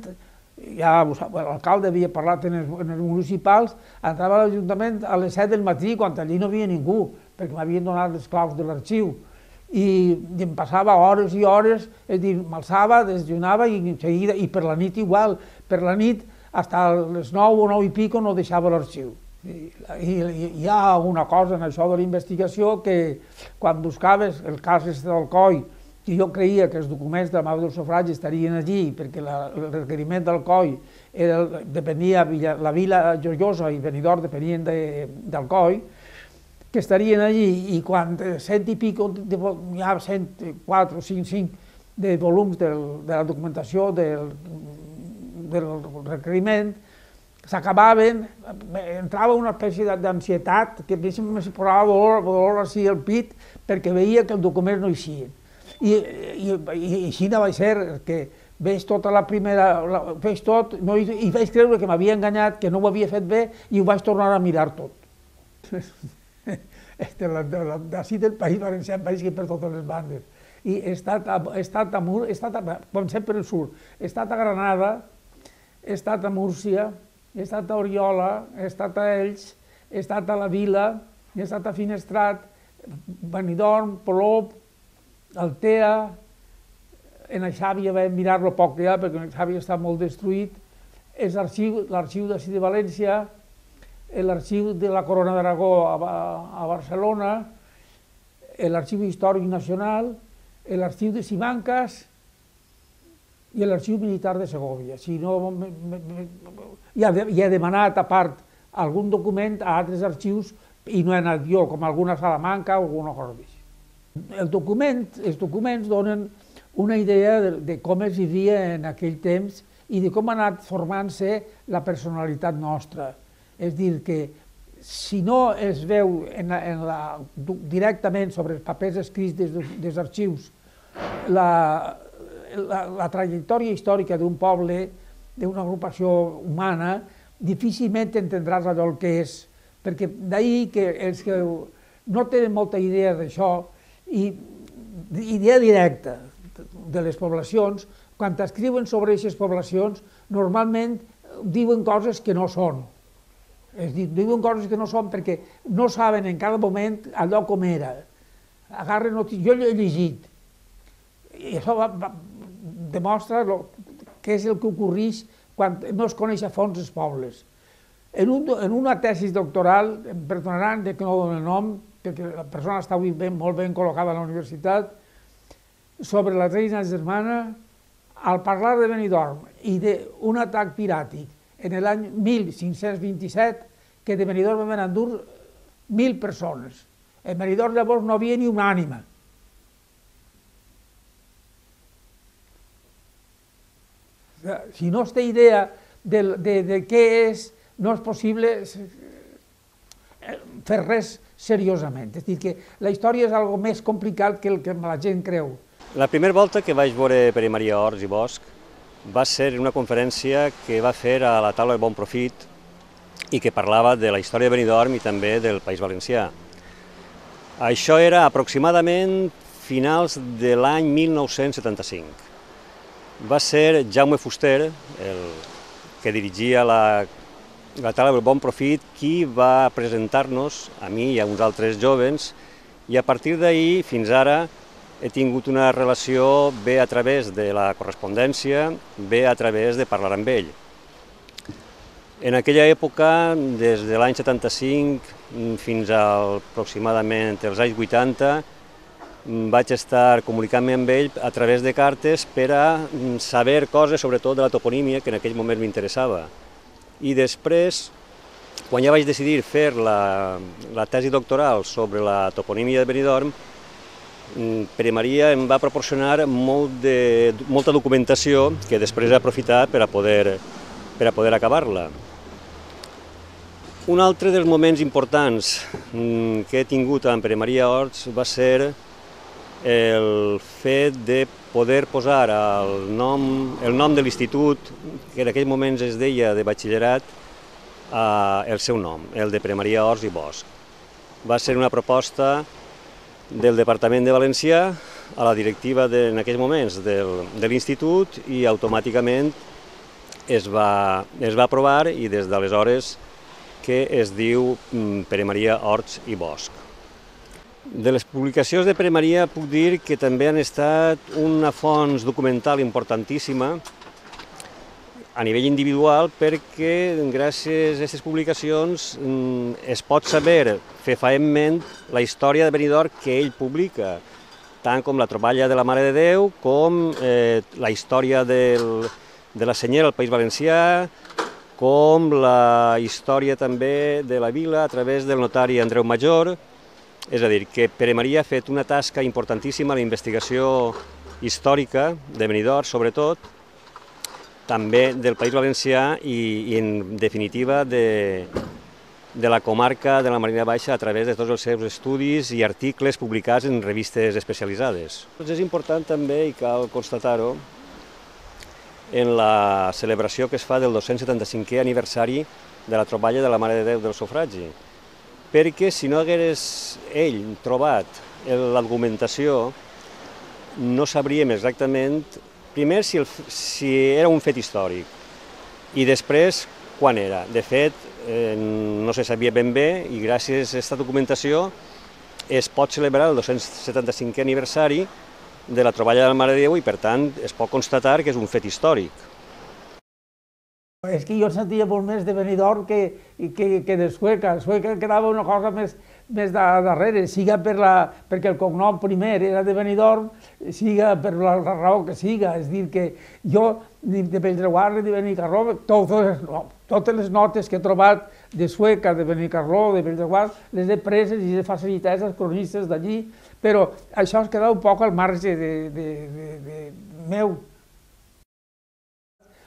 ja l'alcalde havia parlat en els, en els municipals, entrava a l'Ajuntament a les set del matí, quan allí no havia ningú, perquè m'havien donat les claus de l'arxiu. I em passava hores i hores, és a dir, m'alçava, desjunava i en seguida, i per la nit igual, per la nit, fins a les nou o nou i pico no deixava l'arxiu. I, i, hi ha una cosa en això de la investigació que quan buscaves el cas d'Alcoi, que jo creia que els documents de la Mare del Sufragi estarien allí, perquè la, el requeriment d'Alcoi depenia, la Vila Joiosa i Benidorm depenien d'Alcoi, que estarien allí, i quan cent i pico, hi ha cent quatre, cinc, cinc de volums de la documentació del, del requeriment, s'acabaven, entrava una espècie d'ansietat, que a mi em posava dolor, dolor així al pit, perquè veia que els documents no eixien. I, i, i així no va ser, que veig tota la primera, la, veig tot, no, i, i vaig creure que m'havia enganyat, que no ho havia fet bé, i ho vaig tornar a mirar tot. D'ací del País Valencià em vaig que per totes les bandes. I he estat a, he estat a Mur, he estat a, comencem per el sud, he estat a Granada, he estat a Múrcia, he estat a Oriola, he estat a Elx, he estat a la Vila, he estat a Finestrat, Benidorm, Polop, Altea, en el Xàbia vam mirar-lo poc ja, perquè el Xàbia està molt destruït, és l'arxiu d'ací de València, l'arxiu de la Corona d'Aragó a Barcelona, l'arxiu històric nacional, l'arxiu de Simancas i l'arxiu militar de Segovia. Si no, ja he demanat a part algun document a altres arxius i no he anat jo, com alguna Salamanca o alguna cosa així. El document, els documents donen una idea de, de com es vivia en aquell temps i de com ha anat formant-se la personalitat nostra. És dir, que si no es veu en la, en la, directament sobre els papers escrits des, dels arxius la, la, la trajectòria històrica d'un poble, d'una agrupació humana, difícilment entendràs allò el que és, perquè d'ahir que els que no tenen molta idea d'això, i idea directa de les poblacions, quan escriuen sobre aquestes poblacions, normalment diuen coses que no són. És dir, diuen coses que no són perquè no saben en cada moment allò com era. Agarren notícies, jo l'he llegit, i això va, va, demostra lo, què és el que ocorreix quan no es coneix a fons els pobles. En, un, en una tesi doctoral, em perdonaran que no dono el nom, perquè la persona està avui ben, molt ben col·locada a la universitat, sobre la reina germana, al parlar de Benidorm i d'un atac piràtic en l'any mil cinc-cents vint-i-set, que de Benidorm van endur mil persones. En Benidorm llavors no havia ni una ànima. Si no es té idea de, de, de què és, no és possible fer res seriosament. És dir, que la història és algo més complicat que el que la gent creu. La primera volta que vaig veure Pere Maria Ors i Bosch va ser en una conferència que va fer a la taula de Bon Profit i que parlava de la història de Benidorm i també del País Valencià. Això era aproximadament finals de l'any mil nou-cents setanta-cinc. Va ser Jaume Fuster, el que dirigia la, la taula del Bon Profit, qui va presentar-nos, a mi i a uns altres jovens, i a partir d'ahir fins ara he tingut una relació bé a través de la correspondència, bé a través de parlar amb ell. En aquella època, des de l'any setanta-cinc fins a aproximadament els anys vuitanta, vaig estar comunicant-me amb ell a través de cartes per a saber coses, sobretot de la toponímia, que en aquell moment m'interessava. I després, quan ja vaig decidir fer la, la tesi doctoral sobre la toponímia de Benidorm, Pere Maria em va proporcionar molt de, molta documentació que després he aprofitat per a poder, per a poder acabar-la. Un altre dels moments importants que he tingut amb Pere Maria Ors va ser el fet de poder posar el nom, el nom de l'institut, que en aquells moments es deia de batxillerat, el seu nom, el de Pere Maria Ors i Bosch. Va ser una proposta del Departament de València a la directiva de, en aquells moments del, de l'institut i automàticament es va, es va aprovar i des d'aleshores que es diu Pere Maria Ors i Bosch. De les publicacions de Pere Maria puc dir que també han estat una font documental importantíssima a nivell individual perquè gràcies a aquestes publicacions es pot saber fefaentment la història de Benidorm que ell publica, tant com la troballa de la Mare de Déu, com eh, la història del, de la senyera al País Valencià, com la història també de la vila a través del notari Andreu Major És a dir, que Pere Maria ha fet una tasca importantíssima a la investigació històrica de Benidorm, sobretot, també del País Valencià i, i en definitiva, de, de la comarca de la Marina Baixa a través de tots els seus estudis i articles publicats en revistes especialitzades. És important també, i cal constatar-ho, en la celebració que es fa del dos-cents setanta-cinquè aniversari de la troballa de la Mare de Déu del Sufragi, perquè si no hagués ell trobat l'argumentació, no sabríem exactament, primer, si, el, si era un fet històric, i després, quan era. De fet, eh, no se sabia ben bé, i gràcies a aquesta documentació es pot celebrar el dos-cents setanta-cinquè aniversari de la troballa de la Mare de Déu i, per tant, es pot constatar que és un fet històric. És que jo sentia molt més de Benidorm que, que, que de Sueca. Sueca quedava una cosa més, més de, darrere, siga per la, perquè el cognom primer era de Benidorm, siga per la, la raó que siga. És dir, que jo, ni de Bellreguard ni de Benicarló, totes, no, totes les notes que he trobat de Sueca, de Benicarló, de Bellreguard, les he preses i he facilitat als cronistes d'allí, però això es queda un poc al marge de, de, de, de meu.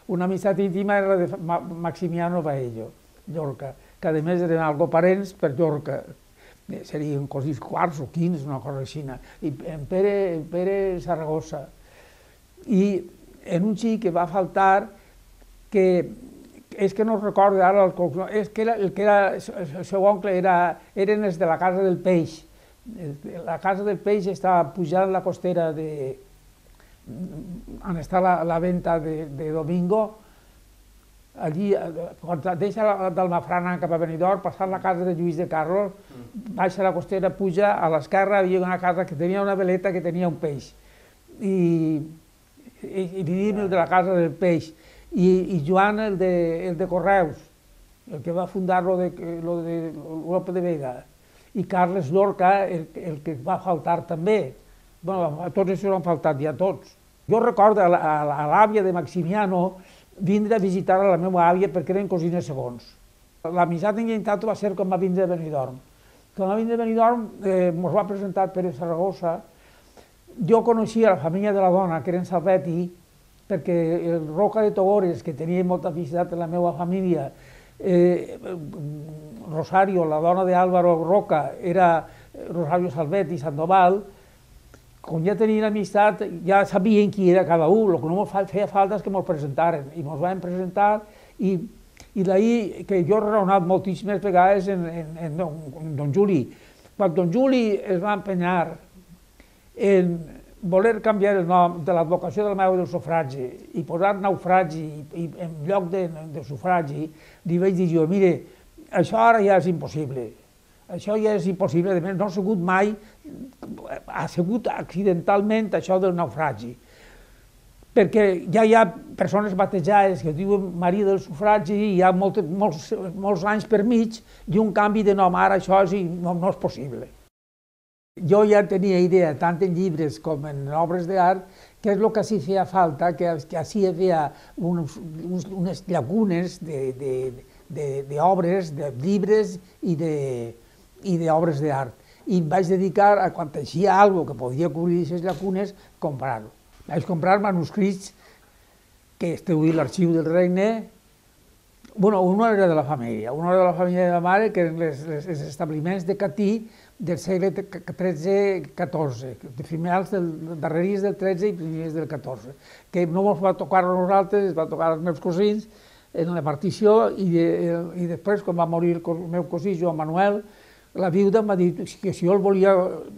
Una amistat íntima era de Maximiano Baello, Llorca, que a més eren algo parents per Llorca. Serien cosins quarts o quins, una cosa així. I en Pere, en Pere Saragossa. I en un xic que va faltar, que és que no recordo ara el cognom, és que era, el que era el seu oncle era, eren els de la Casa del Peix. La Casa del Peix estava pujant la costera de on està la, la venta de, de Domingo, allí, quan deixa d'Almafrana cap a Benidorm, passant la casa de Lluís de Carlos, baixa la costera, puja, a l'esquerra hi havia una casa que tenia una veleta que tenia un peix. I, i, i vivim el de la Casa del Peix. I, i Joan, el de, el de Correus, el que va fundar lo de, lo de Lope de Vega. I Carles Llorca, el, el que va faltar també. Bueno, a tots això han faltat ja tots. Jo recordo a l'àvia de Maximiano vindre a visitar a la meva àvia perquè eren cosines segons. L'amistat enllentat va ser quan va vindre a Benidorm. Quan va vindre a Benidorm eh, ens va presentar Pere Saragossa. Jo coneixia la família de la dona, que eren Salvetti, perquè el Roca de Togores, que tenia molta aficitat en la meva família, eh, Rosario, la dona d'Álvaro Roca, era Rosario Salvetti Sandoval. Com ja tenien amistat, ja sabien qui era cada un, el que no ens feia falta és que ens presentaren. I ens van presentar, i, i d'ahir que jo he raonat moltíssimes vegades en, en, en, don, en don Juli. Quan don Juli es va empenyar en voler canviar el nom de l'advocació de la Mare del Sufragi i posar naufragi i, i en lloc de, de sufragi, li vaig dir jo, mire, això ara ja és impossible. Això ja és impossible, a més no ha sigut mai, ha sigut accidentalment això del naufragi. Perquè ja hi ha persones batejades que diuen Maria del Sufragi i hi ha molt, molts, molts anys per mig i un canvi de nom, ara això és, no, no és possible. Jo ja tenia idea, tant en llibres com en obres d'art, que és el que sí feia falta, que, que així hi havia uns, uns, unes llacunes d'obres, de, de, de llibres i de i d'obres d'art. I em vaig dedicar a, quan teixia alguna cosa que podia cobrir aquestes llacunes, comprar-ho. Vaig comprar manuscrits que esteu a l'arxiu del regne. Bueno, un era de la família, un era de la família de la mare, que eren les, les, els establiments de Catí del segle tretze catorze, de finals del, darreries del tretze i primers del catorze, que no ens va tocar a nosaltres, es va tocar als meus cosins en la partició, i, de, i després, quan va morir el meu cosí, Joan Manuel, la viuda m'ha dit que si jo el volia,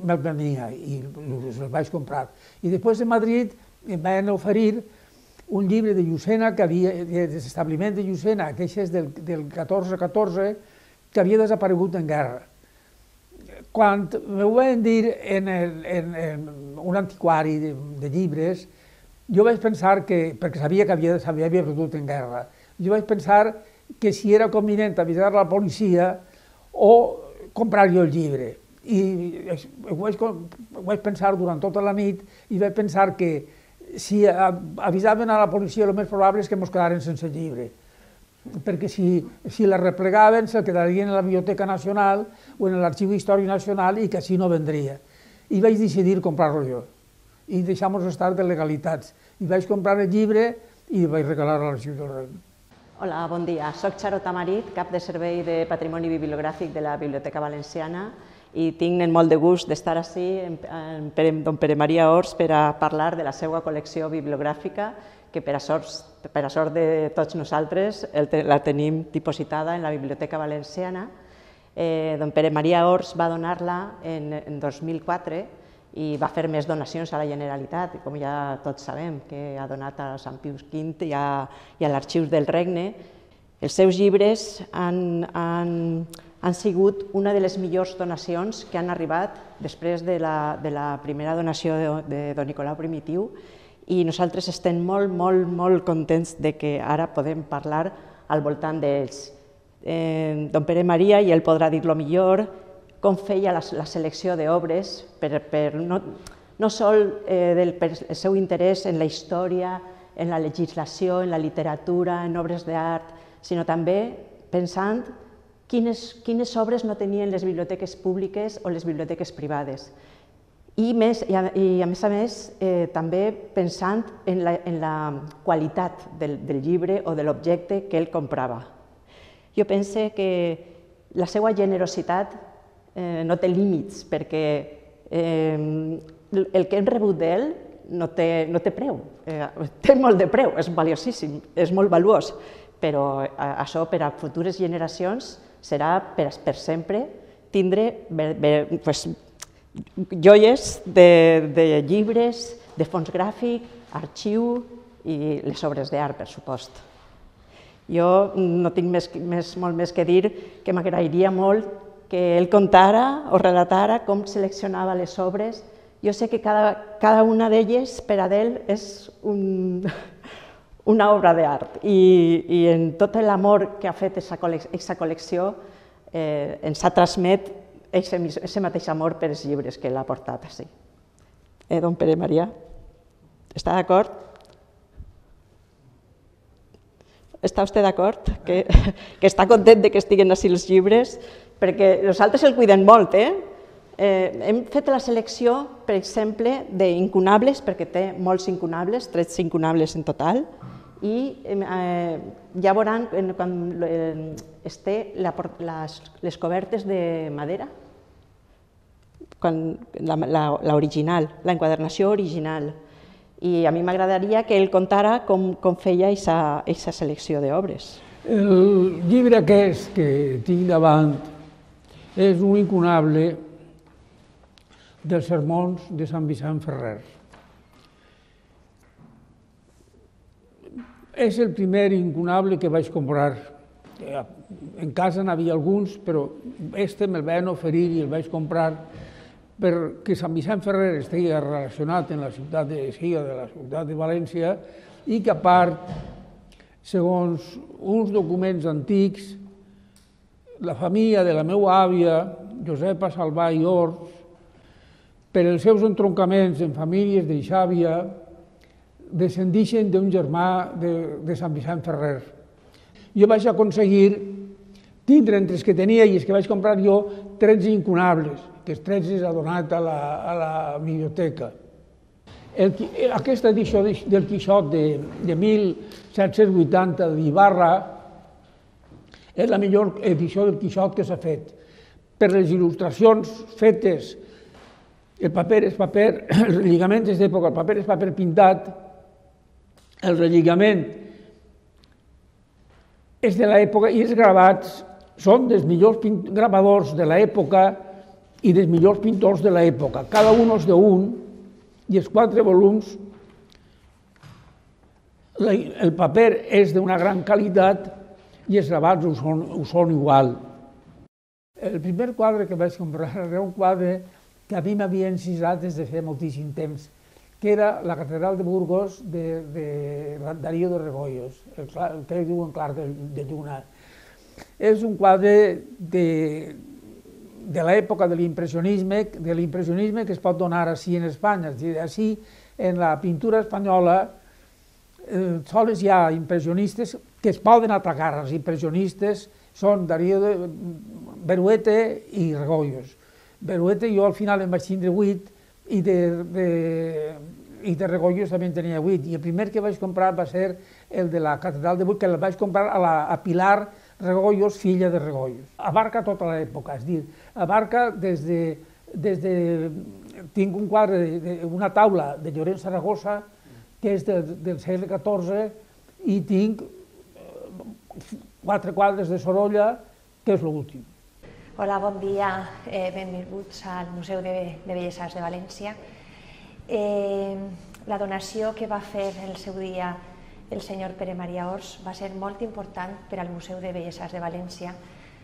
me'l venia, i els vaig comprar. I després de Madrid em van oferir un llibre de Llucena, que havia, de l'establiment de Llucena, que és del, del catorze catorze, que havia desaparegut en guerra. Quan m'ho van dir en, el, en, en un antiquari de, de llibres, jo vaig pensar que, perquè sabia que havia, havia perdut en guerra, jo vaig pensar que si era convenient avisar la policia o comprar jo el llibre. I ho vaig, ho vaig pensar durant tota la nit i vaig pensar que si avisaven a la policia el més probable és que ens quedaren sense llibre. perquè si, si la replegaven se quedarien a la Biblioteca Nacional o en l'Arxiu Històric Nacional i que així no vendria. I vaig decidir comprar-lo jo i deixar-nos estar de legalitats. I vaig comprar el llibre i vaig regalar a l'Arxiu del Regne. Hola, bon dia. Soc Charo Tamarit, cap de Servei de Patrimoni Bibliogràfic de la Biblioteca Valenciana i tinc molt de gust d'estar ací amb don Pere Maria Ors per a parlar de la seva col·lecció bibliogràfica que per a sort de tots nosaltres la tenim dipositada en la Biblioteca Valenciana. Don Pere Maria Ors va donar-la en dos mil quatre i va fer més donacions a la Generalitat, com ja tots sabem, que ha donat a Sant Pius quinze i a l'Arxiu del Regne. Els seus llibres han sigut una de les millors donacions que han arribat després de la primera donació de don Nicolau Primitiu i nosaltres estem molt, molt, molt contents que ara podem parlar al voltant d'ells. Don Pere Maria, i ell podrà dir-lo millor, com feia la selecció d'obres, no sols pel seu interès en la història, en la legislació, en la literatura, en obres d'art, sinó també pensant quines obres no tenien les biblioteques públiques o les biblioteques privades. I a més a més també pensant en la qualitat del llibre o de l'objecte que ell comprava. Jo penso que la seva generositat no té límits, perquè el que hem rebut d'ell no té preu, té molt de preu, és valiosíssim, és molt valuós, però això per a futures generacions serà per sempre tindre joies de llibres, de fons gràfic, arxiu i les obres d'art, per supost. Jo no tinc molt més que dir que m'agradaria molt que ell contara o relatara com seleccionava les obres. Jo sé que cada una d'elles per a ell és una obra d'art i en tot l'amor que ha fet aquesta col·lecció ens ha transmet aquest mateix amor per els llibres que l'ha portat així. Don Pere Maria, està d'acord? Està vostè d'acord? Que està content que estiguen així els llibres? Perquè nosaltres el cuidem molt, eh? Hem fet la selecció, per exemple, d'incunables, perquè té molts incunables, tretze incunables en total, i ja veuran quan es té les cobertes de madera, l'original, l'enquadernació original. I a mi m'agradaria que ell contara com feia aquesta selecció d'obres. El llibre aquest que tinc davant és un incunable dels sermons de Sant Vicent Ferrer. És el primer incunable que vaig comprar. En casa n'havia alguns, però este me'l van oferir i el vaig comprar perquè Sant Vicent Ferrer estigui relacionat amb la ciutat de València i que, a part, segons uns documents antics, la família de la meva àvia, Josepa Salvà i Ors, per els seus entroncaments en famílies de Xàbia, descendeixen d'un germà de Sant Vicent Ferrer. Jo vaig aconseguir tindre entre els que tenia i els que vaig comprar jo tretze incunables, que els tretze ha donat a la biblioteca. Aquesta edició del Quixot de mil set-cents vuitanta d'Ibarra és la millor edició del Quixot que s'ha fet. Per les il·lustracions fetes, el paper és paper, el relligament és d'època, el paper és paper pintat, el relligament és de l'època i els gravats són dels millors gravadors de l'època i dels millors pintors de l'època. Cada un és d'un i els quatre volums, el paper és d'una gran qualitat i els gravats ho són igual. El primer quadre que vaig comprar era un quadre que a mi m'havia encisat des de fer moltíssim temps, que era la catedral de Burgos de Darío de Rebollos, el que diuen Clar de Lluna. És un quadre de l'època de l'impressionisme, de l'impressionisme que es pot donar així en Espanya. És a dir, així, en la pintura espanyola, sols hi ha impressionistes que es poden atacar als impressionistes són Darío de Beruete i Regoyos. Beruete jo al final em vaig tindre vuit i de, de, i de Regoyos també en tenia vuit. I el primer que vaig comprar va ser el de la Catedral de Buit, que el vaig comprar a, la, a Pilar Regoyos, filla de Regoyos. Abarca tota l'època, és dir, abarca des de, des de... Tinc un quadre, de, de, una taula de Llorenç Saragossa, que és del, del segle catorze, i tinc quatre quadres de Sorolla, que és l'últim. Hola, bon dia, eh, benvinguts al Museu de, de Belles Arts de València. Eh, la donació que va fer el seu dia el senyor Pere Maria Ors va ser molt important per al Museu de Belles Arts de València.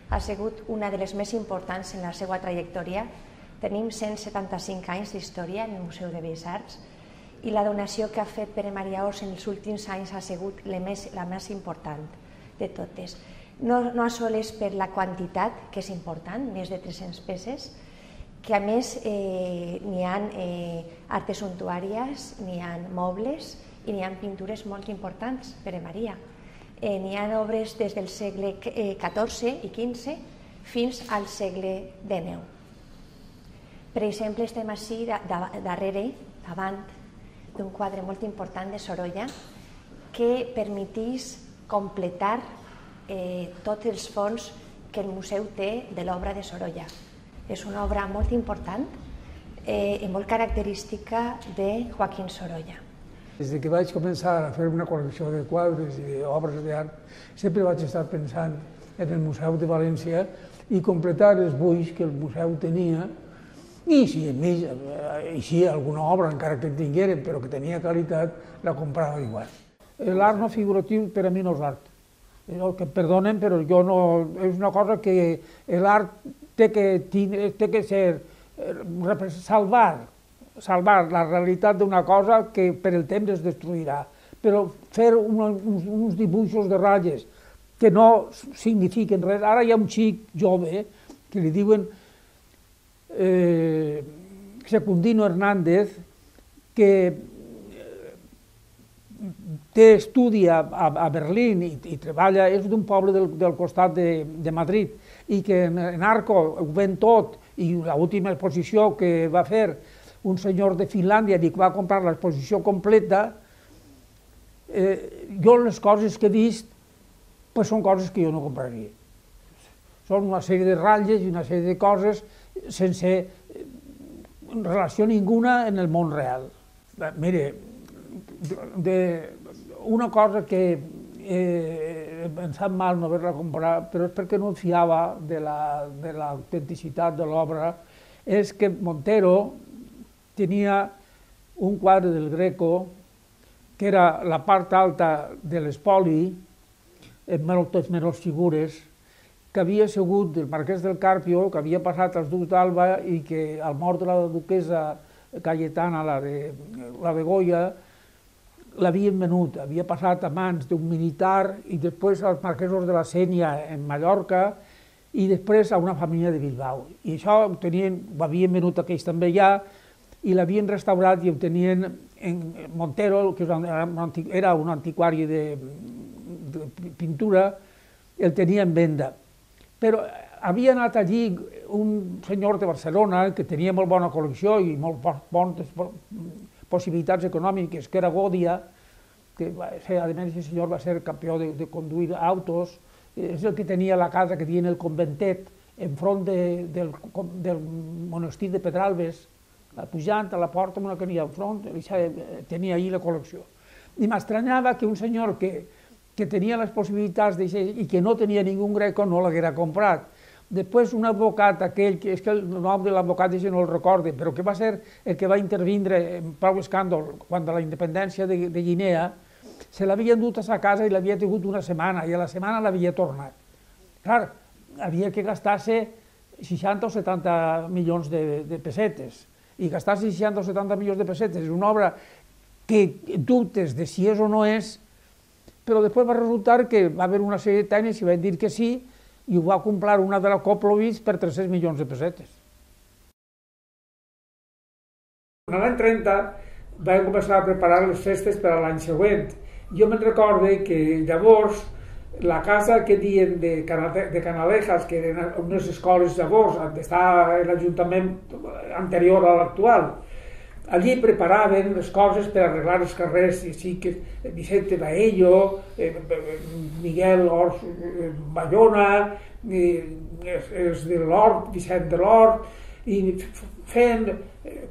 Ha sigut una de les més importants en la seva trajectòria. Tenim cent setanta-cinc anys d'història en el Museu de Belles Arts i la donació que ha fet Pere Maria Ors en els últims anys ha sigut la més, la més important de totes. No, no sols per la quantitat, que és important, més de tres-centes peces, que a més eh, n'hi ha eh, artes suntuàries, n'hi ha mobles i n'hi ha pintures molt importants, Pere Maria. Eh, n'hi ha obres des del segle catorze i quinze fins al segle dinou. Per exemple, estem així darrere, davant d'un quadre molt important de Sorolla que permetís completar eh, tots els fons que el museu té de l'obra de Sorolla. És una obra molt important eh, i molt característica de Joaquín Sorolla. Des que vaig començar a fer una col·lecció de quadres i d'obres d'art, sempre vaig estar pensant en el Museu de València i completar els buits que el museu tenia, i si a mi així alguna obra, encara que en tingueren, però que tenia qualitat, la comprava igual. L'art no figuratiu per a mi no és art. Que em perdonen, però jo no... És una cosa que l'art té que, té que ser... salvar, salvar la realitat d'una cosa que per el temps es destruirà. Però fer una, uns, uns dibuixos de ratlles que no signifiquen res... Ara hi ha un xic jove que li diuen eh, Secundino Hernández, que té estudi a, a Berlín i, i treballa, és d'un poble del, del costat de, de Madrid, i que en, en Arco ho ven tot, i l'última exposició que va fer un senyor de Finlàndia i que va comprar l'exposició completa, eh, jo les coses que he vist pues són coses que jo no compraria. Són una sèrie de ratlles i una sèrie de coses sense relació ninguna en el món real. Mire, de, una cosa que eh, em sap mal no haver-la comprat, però és perquè no em fiava de l'autenticitat de l'obra, és que Montero tenia un quadre del Greco que era la part alta de l'espoli, amb moltes menys figures, que havia sigut del marquès del Carpio, que havia passat als ducs d'Alba i que al mort de la duquesa Cayetana, la de, la de Goya, l'havien venut, havia passat a mans d'un militar i després als marquesos de la Sénia en Mallorca i després a una família de Bilbao. I això ho, tenien, ho havien venut aquells també ja i l'havien restaurat i ho tenien en Montero, que era un antiquari de, de pintura, el tenia en venda. Però havia anat allí un senyor de Barcelona que tenia molt bona col·lecció i molt bones possibilitats econòmiques, que era Godia, que a més el senyor va ser campió de, de conduir autos, és el que tenia la casa que diuen el Conventet, enfront de, del, del monestir de Pedralbes, pujant a la porta amb una que n'hi ha enfront, tenia allí la col·lecció. I m'estranyava que un senyor que, que tenia les possibilitats i que no tenia ningú greco no l'haguera comprat. Després un advocat, aquell, que és que el nom de l'advocat ja no el recorde, però que va ser el que va intervindre en prou escàndol quan de la independència de, de Guinea, se l'havien dut a sa casa i l'havia tingut una setmana, i a la setmana l'havia tornat. Clar, havia que gastar-se seixanta o setanta milions de, de pessetes, i gastar-se seixanta o setanta milions de pessetes és una obra que dubtes de si és o no és, però després va resultar que va haver una sèrie de tècnics i van dir que sí, i ho va comprar una de la Koplovitz per tres-cents milions de pessetes. En l'any trenta vam començar a preparar les festes per a l'any següent. Jo me'n recorde que llavors la casa que diuen de, de Canalejas, que eren unes escoles llavors, on està l'Ajuntament anterior a l'actual, allí preparaven les coses per arreglar els carrers, i sí que Vicente Baello, eh, Miguel Ors, eh, Bayona, eh, els de l'Hort, Vicent de l'Hort, i feien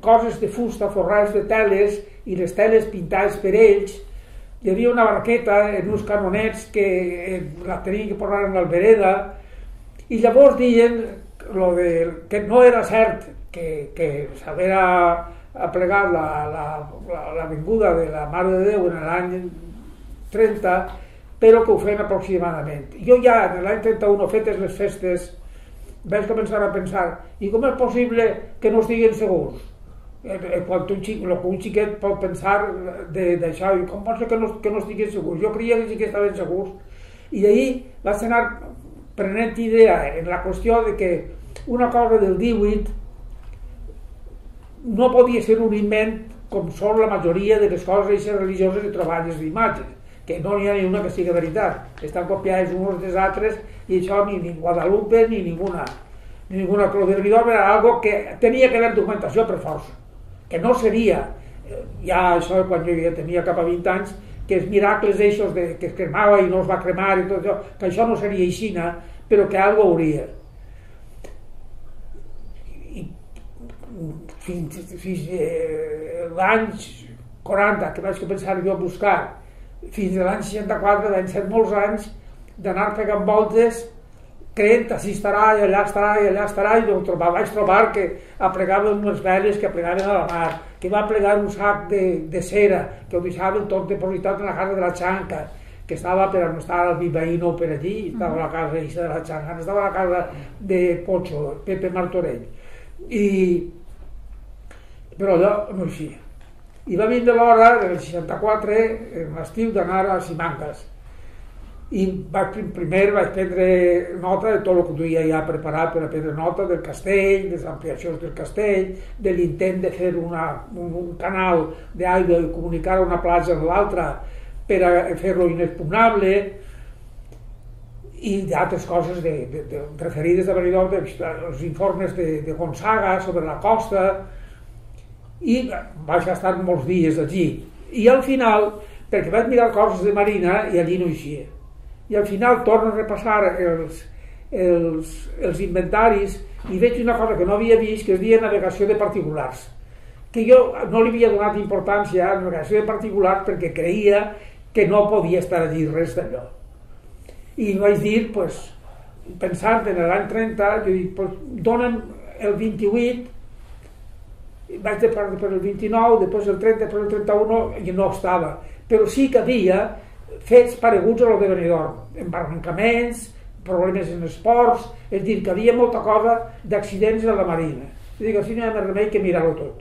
coses de fusta, forrats de teles, i les teles pintades per ells. Hi havia una barqueta en uns canonets que eh, la tenien que posar en l'albereda, i llavors deien lo de, que no era cert que, que s'havia aplegat l'avinguda la, la, la de la Mare de Déu en l'any trenta, però que ho feien aproximadament. Jo ja en l'any trenta-u, fetes les festes, vaig començar a pensar, i com és possible que no estiguen segurs? Quan un, xic, un xiquet pot pensar d'això, i com pot ser que no, que no estiguin segurs? Jo creia que sí que estaven segurs. I d'ahir vaig anar prenent idea en la qüestió de que una cosa del divuit no podia ser un invent com són la majoria de les coses religioses i troballes d'imatges, que no n'hi ha ni una que sigui veritat. Estan copiades uns dels altres i això ni, ni Guadalupe ni ninguna. Ni ninguna. Lo del Benidorm era algo que tenia que haver documentació per força, que no seria, ja això quan jo ja tenia cap a vint anys, que els miracles eixos de, que es cremava i no es va cremar i tot això, que això no seria aixina, però que algo hauria. I fins, fins eh, l'any quaranta, que vaig començar jo a buscar, fins a l'any seixanta-quatre, van ser molts anys d'anar pegant voltes creient així estarà i allà estarà i allà estarà, i trobar, vaig trobar que aplegaven unes veles que aplegaven a la mar, que va plegar un sac de, de cera que ho deixaven tot depositat en la casa de la Xanca, que estava, però no estava el Vivaino per allí, estava a la casa de la Xanca, no estava a la casa de Pocho, Pepe Martorell. I però allò no eixia. I va vindre l'hora del seixanta-quatre, en l'estiu, d'anar a Simancas. I vaig, primer vaig prendre nota de tot el que duia ja preparat per a prendre nota del castell, de les ampliacions del castell, de l'intent de fer una, un, un canal d'aigua i comunicar una platja amb l'altra per a fer-lo inexpugnable, i d'altres coses de, de, de, referides a Benidorm, els informes de, de Gonzaga sobre la costa, i vaig estar molts dies allí. I al final, perquè vaig mirar coses de marina i allí no eixia. I al final torno a repassar els, els, els inventaris i veig una cosa que no havia vist, que es deia navegació de particulars, que jo no li havia donat importància a navegació de particulars perquè creia que no podia estar allí res d'allò. I vaig dir, pues, pensant en l'any trenta, jo dic, pues, dona'm el vint-i-vuit, vaig de per el vint-i-nou, després el trenta, després el trenta-u, i no estava. Però sí que havia fets pareguts a lo de Benidorm, embarrancaments, problemes en els ports, és dir, que havia molta cosa d'accidents a la marina. És dir, que així no hi ha més remei que mirar-ho tot.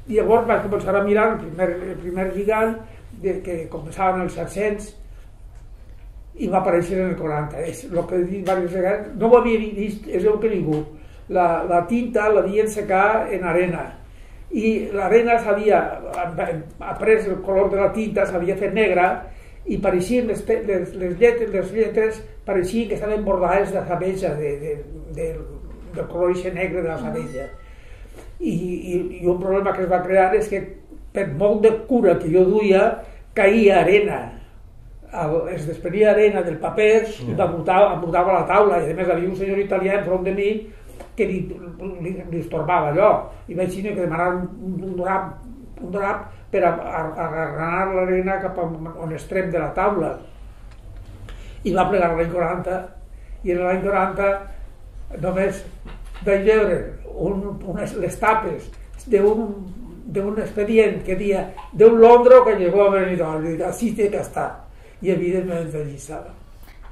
I llavors vaig començar a mirar el primer, el primer gigant, de, que començaven els set-cents, i va aparèixer en el quaranta. És el que he dit diverses vegades, no ho havia vist, és el que ningú. La, la tinta l'havien secar en arena, i l'arena s'havia après el color de la tinta, s'havia fet negra, i pareixien les, les, les, lletres, les lletres pareixien que estaven bordades de sabeja, de, de, de, del color negre de la sabeja. I, i, I un problema que es va crear és que per molt de cura que jo duia, caïa arena, el, es desprenia arena del paper i m'embutava la taula, i a més havia un senyor italià enfront de mi que li, li, li estorbava allò, i vaig tenir que demanar un, un, drap, un drap per a, a, a agarrar l'arena cap a un extrem de la taula, i va plegar l'any quaranta, i en l'any quaranta només vaig veure un, unes, les tapes d'un expedient que deia d'un Londro que llegó a Benidorm, i així té que estar, i evidentment allí estava.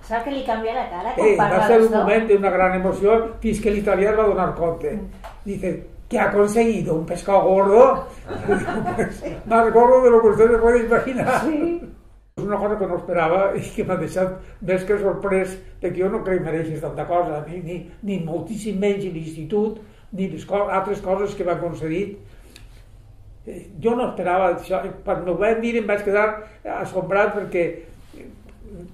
¿Sabes que le cambió la cara? Eh, va a ser un momento de una gran emoción, fins que el italiano va a donar cuenta. Dice, ¿qué ha conseguido? ¿Un pescado gordo? Pues, más gordo de lo que usted se puede imaginar. Sí. És una cosa que no esperava i que m'ha deixat més que sorprès, perquè jo no crec que mereixis tanta cosa, ni, ni, ni moltíssim menys l'institut, ni les co altres coses que m'han concedit. Jo no esperava això. Quan m'ho van dir em vaig quedar assombrat perquè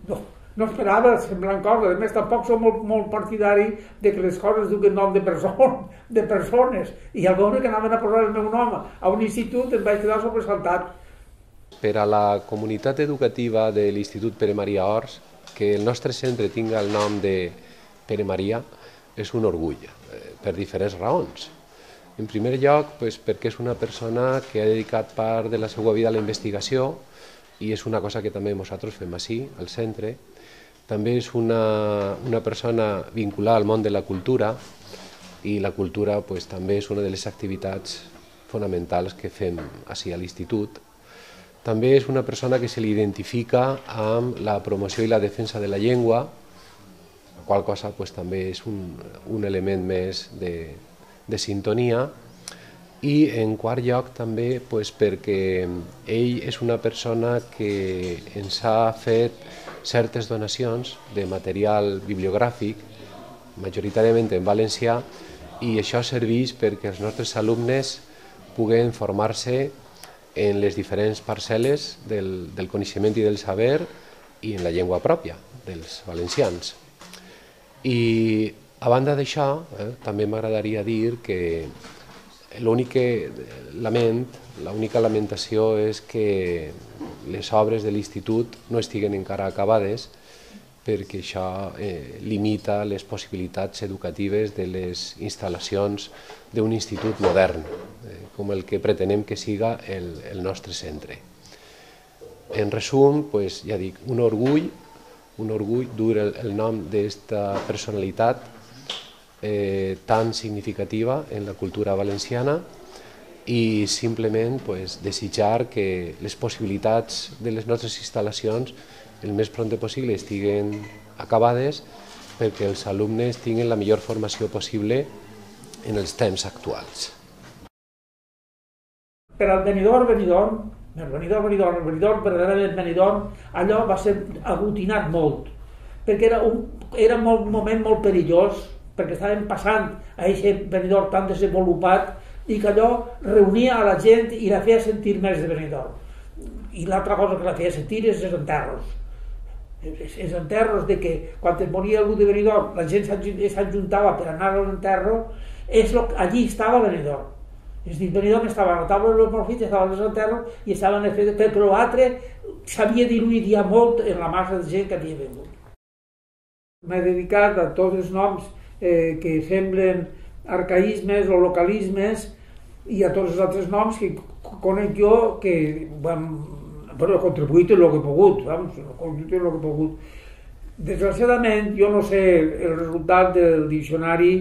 no, no esperava semblant cosa. A més, tampoc som molt, molt partidari de que les coses duguen nom de, person, de persones. I al veure que anaven a posar el meu nom a un institut em vaig quedar sobresaltat. Per a la comunitat educativa de l'Institut Pere Maria Ors, que el nostre centre tinga el nom de Pere Maria és un orgull, per diferents raons. En primer lloc, pues, perquè és una persona que ha dedicat part de la seva vida a la investigació i és una cosa que també nosaltres fem així, al centre. També és una, una persona vinculada al món de la cultura i la cultura pues, també és una de les activitats fonamentals que fem així a l'institut. També és una persona que se li identifica amb la promoció i la defensa de la llengua, la qual cosa pues, també és un, un element més de, de sintonia. I en quart lloc també pues, perquè ell és una persona que ens ha fet certes donacions de material bibliogràfic, majoritàriament en valencià, i això serveix perquè els nostres alumnes puguen formar-se en les diferents parcel·les del, del coneixement i del saber i en la llengua pròpia dels valencians. I a banda d'això, eh, també m'agradaria dir que l'únic que lament, l'única lamentació és que les obres de l'institut no estiguen encara acabades perquè això eh, limita les possibilitats educatives de les instal·lacions d'un institut modern, eh, com el que pretenem que siga el, el nostre centre. En resum, pues, ja dic, un orgull, un orgull dur el, el nom d'esta personalitat eh, tan significativa en la cultura valenciana i simplement pues, desitjar que les possibilitats de les nostres instal·lacions el més prompte possible estiguen acabades perquè els alumnes tinguin la millor formació possible en els temps actuals. Per al Benidorm, Benidorm, el Benidorm, Benidorm, el Benidorm, verdaderament Benidorm, allò va ser aglutinat molt, perquè era un era un moment molt perillós, perquè estàvem passant a aquest Benidorm tan desenvolupat i que allò reunia a la gent i la feia sentir més de Benidorm. I l'altra cosa que la feia sentir és els enterros. Els enterros de que quan es moria algú de Benidorm la gent s'ajuntava per anar a l'enterro, allí estava Benidorm. És a dir, Benidorm estava a la taula dels profits, estava als enterros i estava en el fet, però l'altre s'havia diluït ja molt en la massa de gent que havia vingut. M'he dedicat a tots els noms eh, que semblen arcaïsmes o localismes i a tots els altres noms que conec jo que vam, bueno, he contribuït en el que he pogut, vamos, he contribuït en el que he pogut. Desgraciadament, jo no sé el resultat del diccionari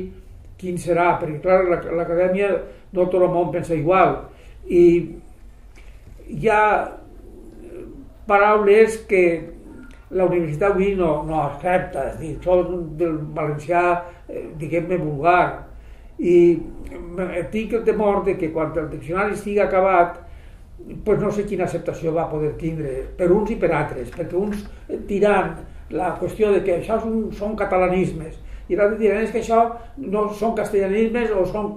quin serà, perquè clar, l'acadèmia no tot el món pensa igual i hi ha paraules que la universitat avui no, no accepta, és a dir, són del valencià, eh, diguem-ne, vulgar. I tinc el temor de que quan el diccionari estigui acabat pues no sé quina acceptació va poder tindre per uns i per altres, perquè uns diran la qüestió de que això són, són catalanismes i l'altre diran que això no són castellanismes o són,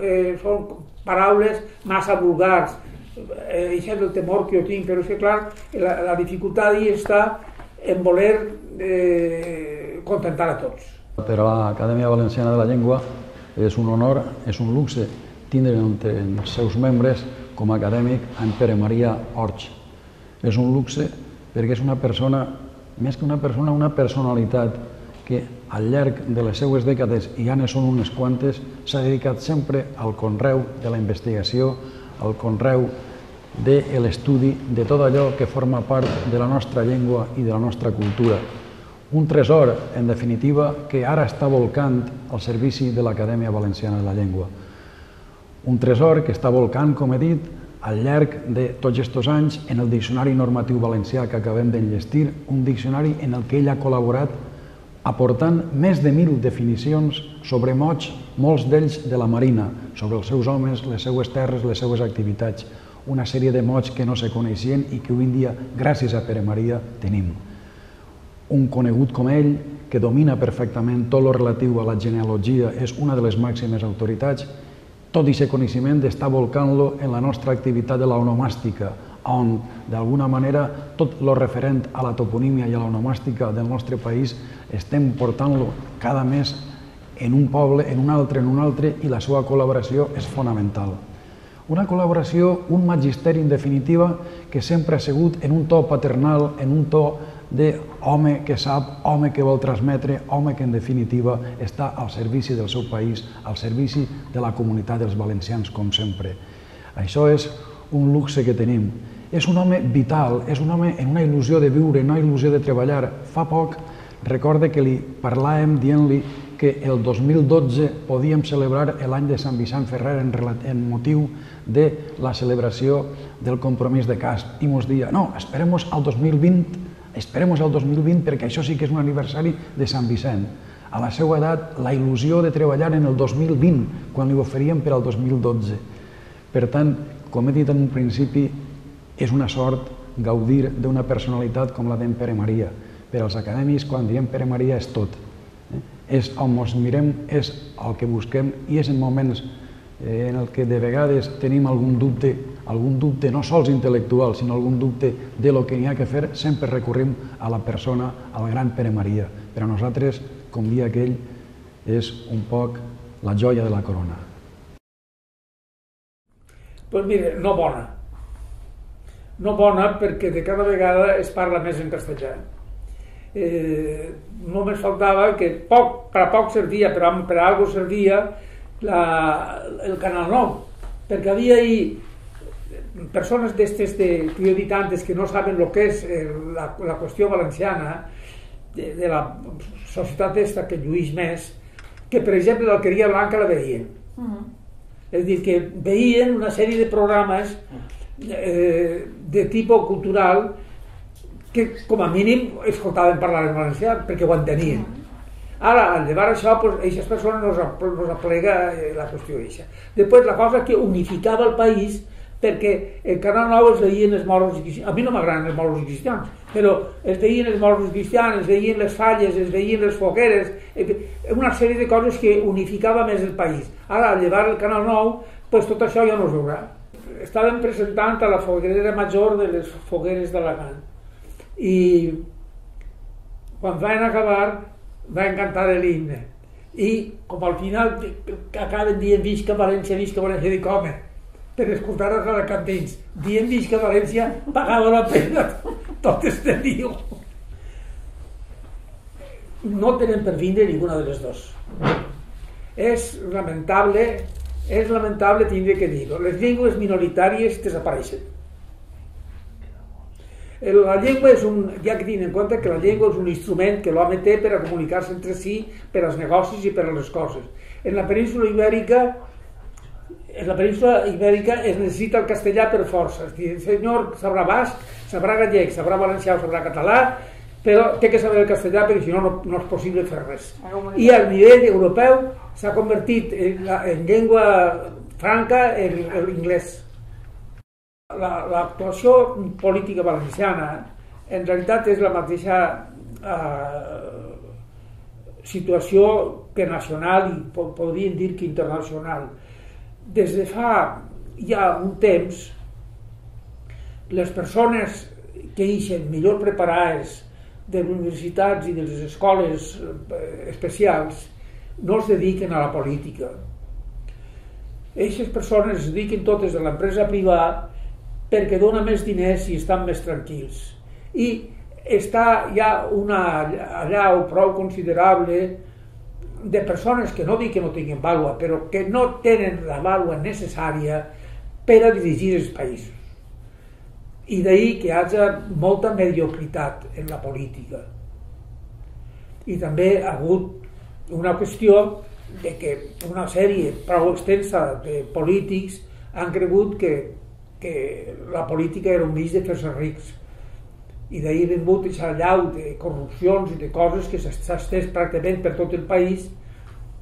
eh, són paraules massa vulgars. Eh, això és el temor que jo tinc, però és que clar, la, la dificultat hi està en voler eh, contentar a tots. Per a l'Acadèmia Valenciana de la Llengua és un honor, és un luxe tindre entre els seus membres com a acadèmic en Pere Maria Ors. És un luxe perquè és una persona, més que una persona, una personalitat que al llarg de les seues dècades, i ja ne són unes quantes, s'ha dedicat sempre al conreu de la investigació, al conreu de l'estudi de tot allò que forma part de la nostra llengua i de la nostra cultura. Un tresor, en definitiva, que ara està volcant al servici de l'Acadèmia Valenciana de la Llengua. Un tresor que està volcant, com he dit, al llarg de tots aquests anys en el Diccionari Normatiu Valencià que acabem d'enllestir, un diccionari en el que ell ha col·laborat aportant més de mil definicions sobre mots, molts d'ells de la Marina, sobre els seus homes, les seues terres, les seues activitats, una sèrie de mots que no se coneixien i que avui en dia, gràcies a Pere Maria, tenim. Un conegut com ell, que domina perfectament tot el relatiu a la genealogia, és una de les màximes autoritats, tot aquest coneixement d'estar volcant-lo en la nostra activitat de l'onomàstica, on d'alguna manera tot el referent a la toponímia i a l'onomàstica del nostre país estem portant-lo cada mes en un poble, en un altre, en un altre, i la seva col·laboració és fonamental. Una col·laboració, un magisteri en definitiva, que sempre ha sigut en un to paternal, en un to d'home que sap, home que vol transmetre, home que en definitiva està al servici del seu país, al servici de la comunitat dels valencians, com sempre. Això és un luxe que tenim. És un home vital, és un home en una il·lusió de viure, en una il·lusió de treballar. Fa poc recorde que li parlàvem dient-li que el dos mil dotze podíem celebrar l'any de Sant Vicent Ferrer en motiu de la celebració del compromís de Casp. I ens deia, no, esperem-nos al dos mil vint, esperem-nos al dos mil vint perquè això sí que és un aniversari de Sant Vicent. A la seva edat, la il·lusió de treballar en el dos mil vint, quan li oferíem per al dos mil dotze. Per tant, com he dit en un principi, és una sort gaudir d'una personalitat com la d'en Pere Maria. Per als acadèmics, quan diem Pere Maria, és tot. És on ens mirem, és el que busquem, i és en moments en el que de vegades tenim algun dubte, algun dubte no sols intel·lectual, sinó algun dubte de lo que n'hi ha que fer, sempre recorrim a la persona, al gran Pere Maria. Per a nosaltres, com dia aquell, és un poc la joia de la corona. Doncs mira, no bona. No bona perquè de cada vegada es parla més en castellà. Eh, només faltava que poc, per a poc servia, per a, per a algo servia la, el Canal nou, perquè havia ahí persones d'estes de, que jo he dit antes que no saben el que és eh, la, la qüestió valenciana de, de la societat esta que lluís més, que per exemple l'Alqueria Blanca la veien. Uh-huh. És a dir, que veien una sèrie de programes eh, de tipus cultural que com a mínim escoltaven parlar en valencià perquè ho entenien. Ara, al llevar això, aquestes persones no es aplega la qüestió eixa. Després, la cosa que unificava el país, perquè el Canal nou es veien els moros i cristians. A mi no m'agraden els moros i cristians, però es veien els moros i cristians, es veien les falles, es veien les fogueres, una sèrie de coses que unificava més el país. Ara, al llevar el Canal nou, doncs tot això ja no es veurà. Estàvem presentant a la foguerera major de les fogueres d'Alacant. I quan van acabar van cantar l'himne i com al final acaben dient visca València, visca València, dic home, per escoltar els alacantins dient visca València pagava la pena tot este lío. No tenen per vindre ninguna de les dos. És lamentable, és lamentable tindre que dir-ho. Les llengües minoritàries desapareixen. La llengua és un, ja que tinc en compte que la llengua és un instrument que l'home té per a comunicar-se entre si, per als negocis i per a les coses. En la península ibèrica, en la península ibèrica es necessita el castellà per força. El senyor sabrà basc, sabrà gallec, sabrà valencià o sabrà català, però té que saber el castellà perquè si no, no, no és possible fer res. I a nivell europeu s'ha convertit en, la, en llengua franca l'inglès. L'actuació política valenciana en realitat és la mateixa eh, situació que nacional i podríem dir que internacional. Des de fa ja un temps, les persones que ixen millor preparades de les universitats i de les escoles especials no es dediquen a la política. Aquestes persones es dediquen totes a l'empresa privada perquè dona més diners i estan més tranquils. I està ja una allau prou considerable de persones que no dic que no tinguin vàlua, però que no tenen la vàlua necessària per a dirigir els països. I d'ahir que hi hagi molta mediocritat en la política. I també ha hagut una qüestió de que una sèrie prou extensa de polítics han cregut que que la política era un mig de fer-se rics. I d'ahir ha vingut aquesta allau de corrupcions i de coses que s'ha estès pràcticament per tot el país,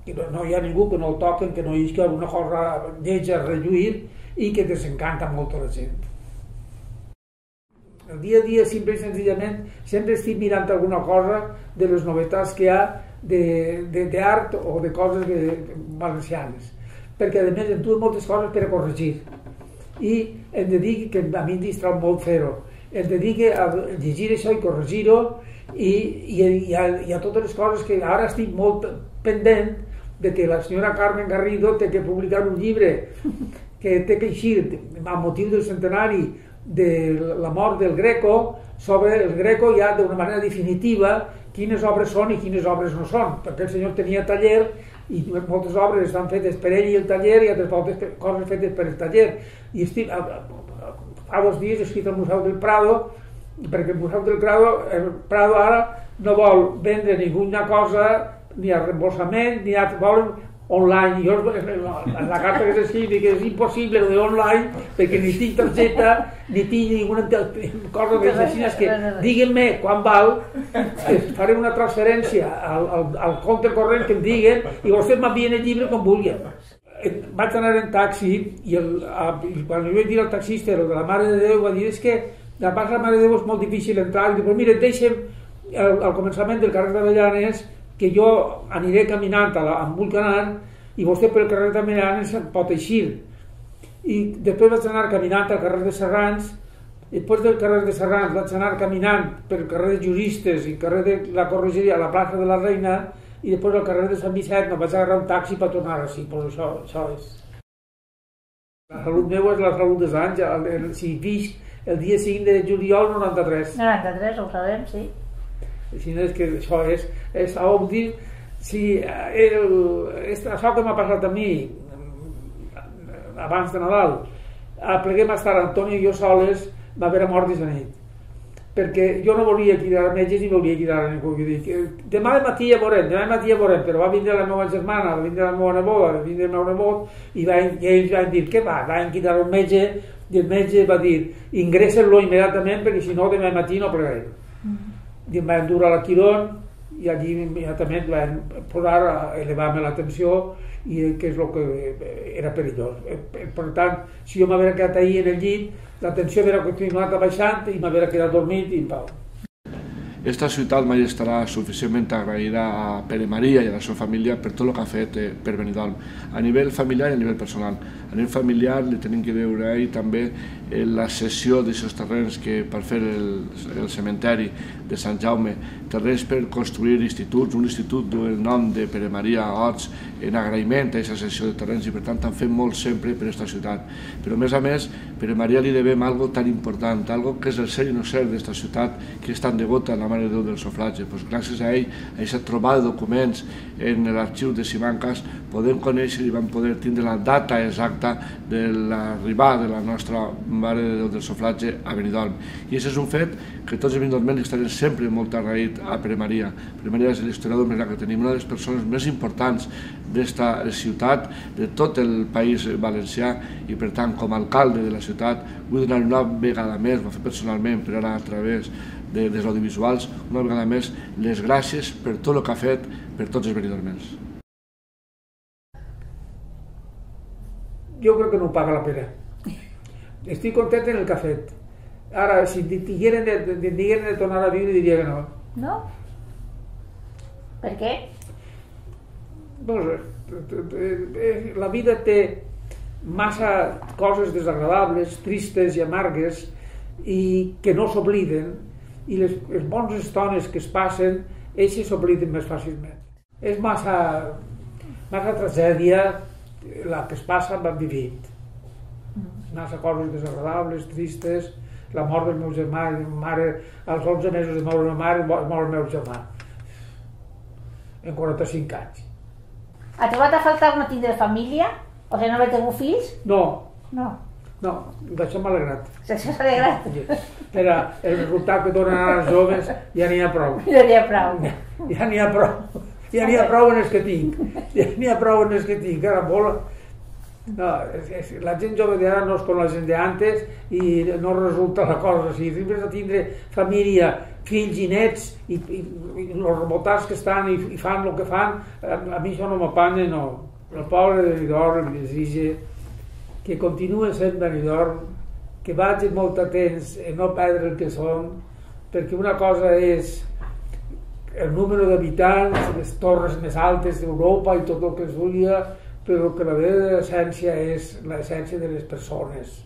que no hi ha ningú que no el toquen, que no hi hagi alguna cosa lletja a relluir i que desencanta molt a la gent. El dia a dia, simple i senzillament, sempre estic mirant alguna cosa de les novetats que hi ha d'art o de coses valencianes, perquè a més em duen moltes coses per a corregir. i em dediqui, que a mi em distrau molt fer-ho, em dediqui a llegir això i corregir-ho i, i, i, a, i a totes les coses que ara estic molt pendent de que la senyora Carmen Garrido té que publicar un llibre que té que eixir a motiu del centenari de la mort del Greco, sobre el Greco ja d'una manera definitiva quines obres són i quines obres no són, perquè el senyor tenia taller i moltes obres estan fetes per ell i el taller i altres moltes coses fetes per el taller. I estic, fa dos dies he escrit al Museu del Prado, perquè el Museu del Prado, el Prado ara no vol vendre ninguna cosa ni a reembolsament, ni a... volen online. Jo en la carta que s'escrivi que és impossible de online perquè ni tinc targeta ni tinc ninguna cosa que així, és que diguin-me quan val, faré una transferència al, al, al compte corrent que em diguen i vostès m'envien el llibre com vulguin. Vaig anar en taxi i, el, a, i quan li vaig dir al taxista el de la Mare de Déu va dir és que la Mare de Déu és molt difícil entrar i dic, però mira, deixa'm al, al començament del carrer d'Avellanes que jo aniré caminant a la, on vull anar i vostè pel carrer d'Avellanes pot eixir. I després vaig anar caminant al carrer de Serrans, i després del carrer de Serrans vaig anar caminant pel carrer de Juristes i el carrer de la Corregeria a la plaça de la Reina i després al carrer de Sant Vicent no vaig agarrar un taxi per tornar així, però això, això és. La salut meva és la salut dels anys, el, el, si visc el dia cinc de juliol noranta-tres. noranta-tres, ho sabem, sí. Si no és que això és, és a dir, si el, això que m'ha passat a mi abans de Nadal, pleguem a estar Antoni i jo soles, va haver mort aquesta nit. Perquè jo no volia cridar a metges ni volia cridar a ningú. Dic, demà de matí ja veurem, demà de matí ja veurem, però va vindre la meva germana, va vindre la meva neboda, va vindre el meu nebot, i, va, i ells van dir, què va? Van cridar un metge, i el metge va dir, ingressa-lo immediatament perquè si no demà matí no plegarem. I em van dur a la Quirón i allí immediatament van posar a elevar-me la tensió i que és el que era perillós. Per tant, si jo m'havia quedat ahir en el llit, la tensió havia continuat baixant i m'havia quedat dormit i en pau. Esta ciutat mai estarà suficientment agraïda a Pere Maria i a la seva família per tot el que ha fet per Benidorm, a nivell familiar i a nivell personal. A nivell familiar li tenim que veure a ell també la cessió d'aquests terrenys que per fer el, el cementeri de Sant Jaume, terrenys per construir instituts, un institut del nom de Pere Maria Orts en agraïment a aquesta cessió de terrenys i per tant han fet molt sempre per aquesta ciutat. Però a més a més, Pere Maria li devem algo tan important, algo que és el ser i no ser d'esta ciutat que és tan devota a la Mare de Déu del Sofragi. Pues gràcies a ell, a aquesta trobada de documents en l'arxiu de Simancas, podem conèixer i vam poder tindre la data exacta de l'arribada de la nostra Mare de Déu del Sofragi a Benidorm. I aquest és un fet que tots els benidormencs estarem sempre molt agraïts a Pere Maria. Pere Maria és l'historiador més gran que tenim, una de les persones més importants d'esta ciutat, de tot el país valencià, i per tant, com a alcalde de la ciutat, vull donar una vegada més, ho va fer personalment, però ara a través de, dels audiovisuals, una vegada més, les gràcies per tot el que ha fet per tots els benidormencs. Jo crec que no ho paga la pena. Estic content en el que ha fet. Ara, si digueren de, de, digueren de tornar a viure, diria que no. No? Per què? No sé, la vida té massa coses desagradables, tristes i amargues i que no s'obliden, i les, les bones estones que es passen, ells s'obliden més fàcilment. És massa, massa tragèdia la que es passa amb el vivit. Massa coses desagradables, tristes, la mort del meu germà, mare, als onze mesos de moure la mare, mor el meu germà, en quaranta-cinc anys. Ha trobat a faltar no tindre família? O sigui, no haver tingut fills? No. No. No, d'això m'ha alegrat. D'això s'ha alegrat? Però el resultat que donen ara els joves ja n'hi ha prou. Ja n'hi ha prou. Ja n'hi ha prou. Ja n'hi ha prou en els que tinc. Ja n'hi ha prou en els que tinc. Ara molt... No, és, és, la gent jove d'ara no és com la gent d'antes i no resulta la cosa així. Sempre has de tindre família, fills i nets i, i, i els rebotats que estan i, i fan el que fan, a, a mi això no m'apanya, no. El poble de Benidorm em desitja que continue sent Benidorm, que vagin molt atents a no perdre el que són, perquè una cosa és el número d'habitants, les torres més altes d'Europa i tot el que es volia, però que la vera essència és l'essència de les persones.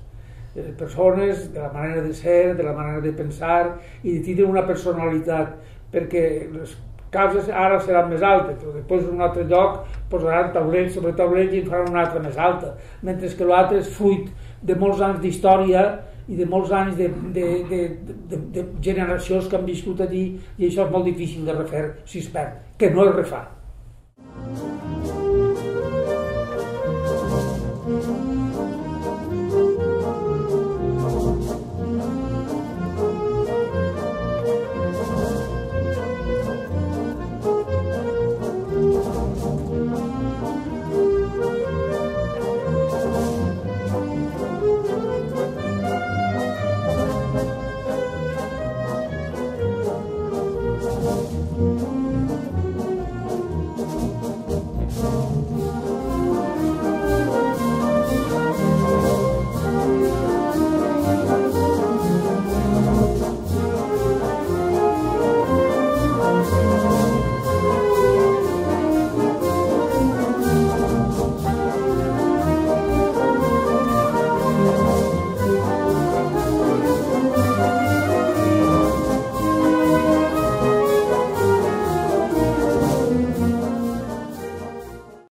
persones, de la manera de ser, de la manera de pensar i de tindre una personalitat, perquè les causes ara seran més altes, però després en un altre lloc posaran taulell sobre taulell i en faran una altra més alta, mentre que l'altre és fruit de molts anys d'història i de molts anys de, de, de, de, de generacions que han viscut allí, i això és molt difícil de refer si es perd, que no es refà.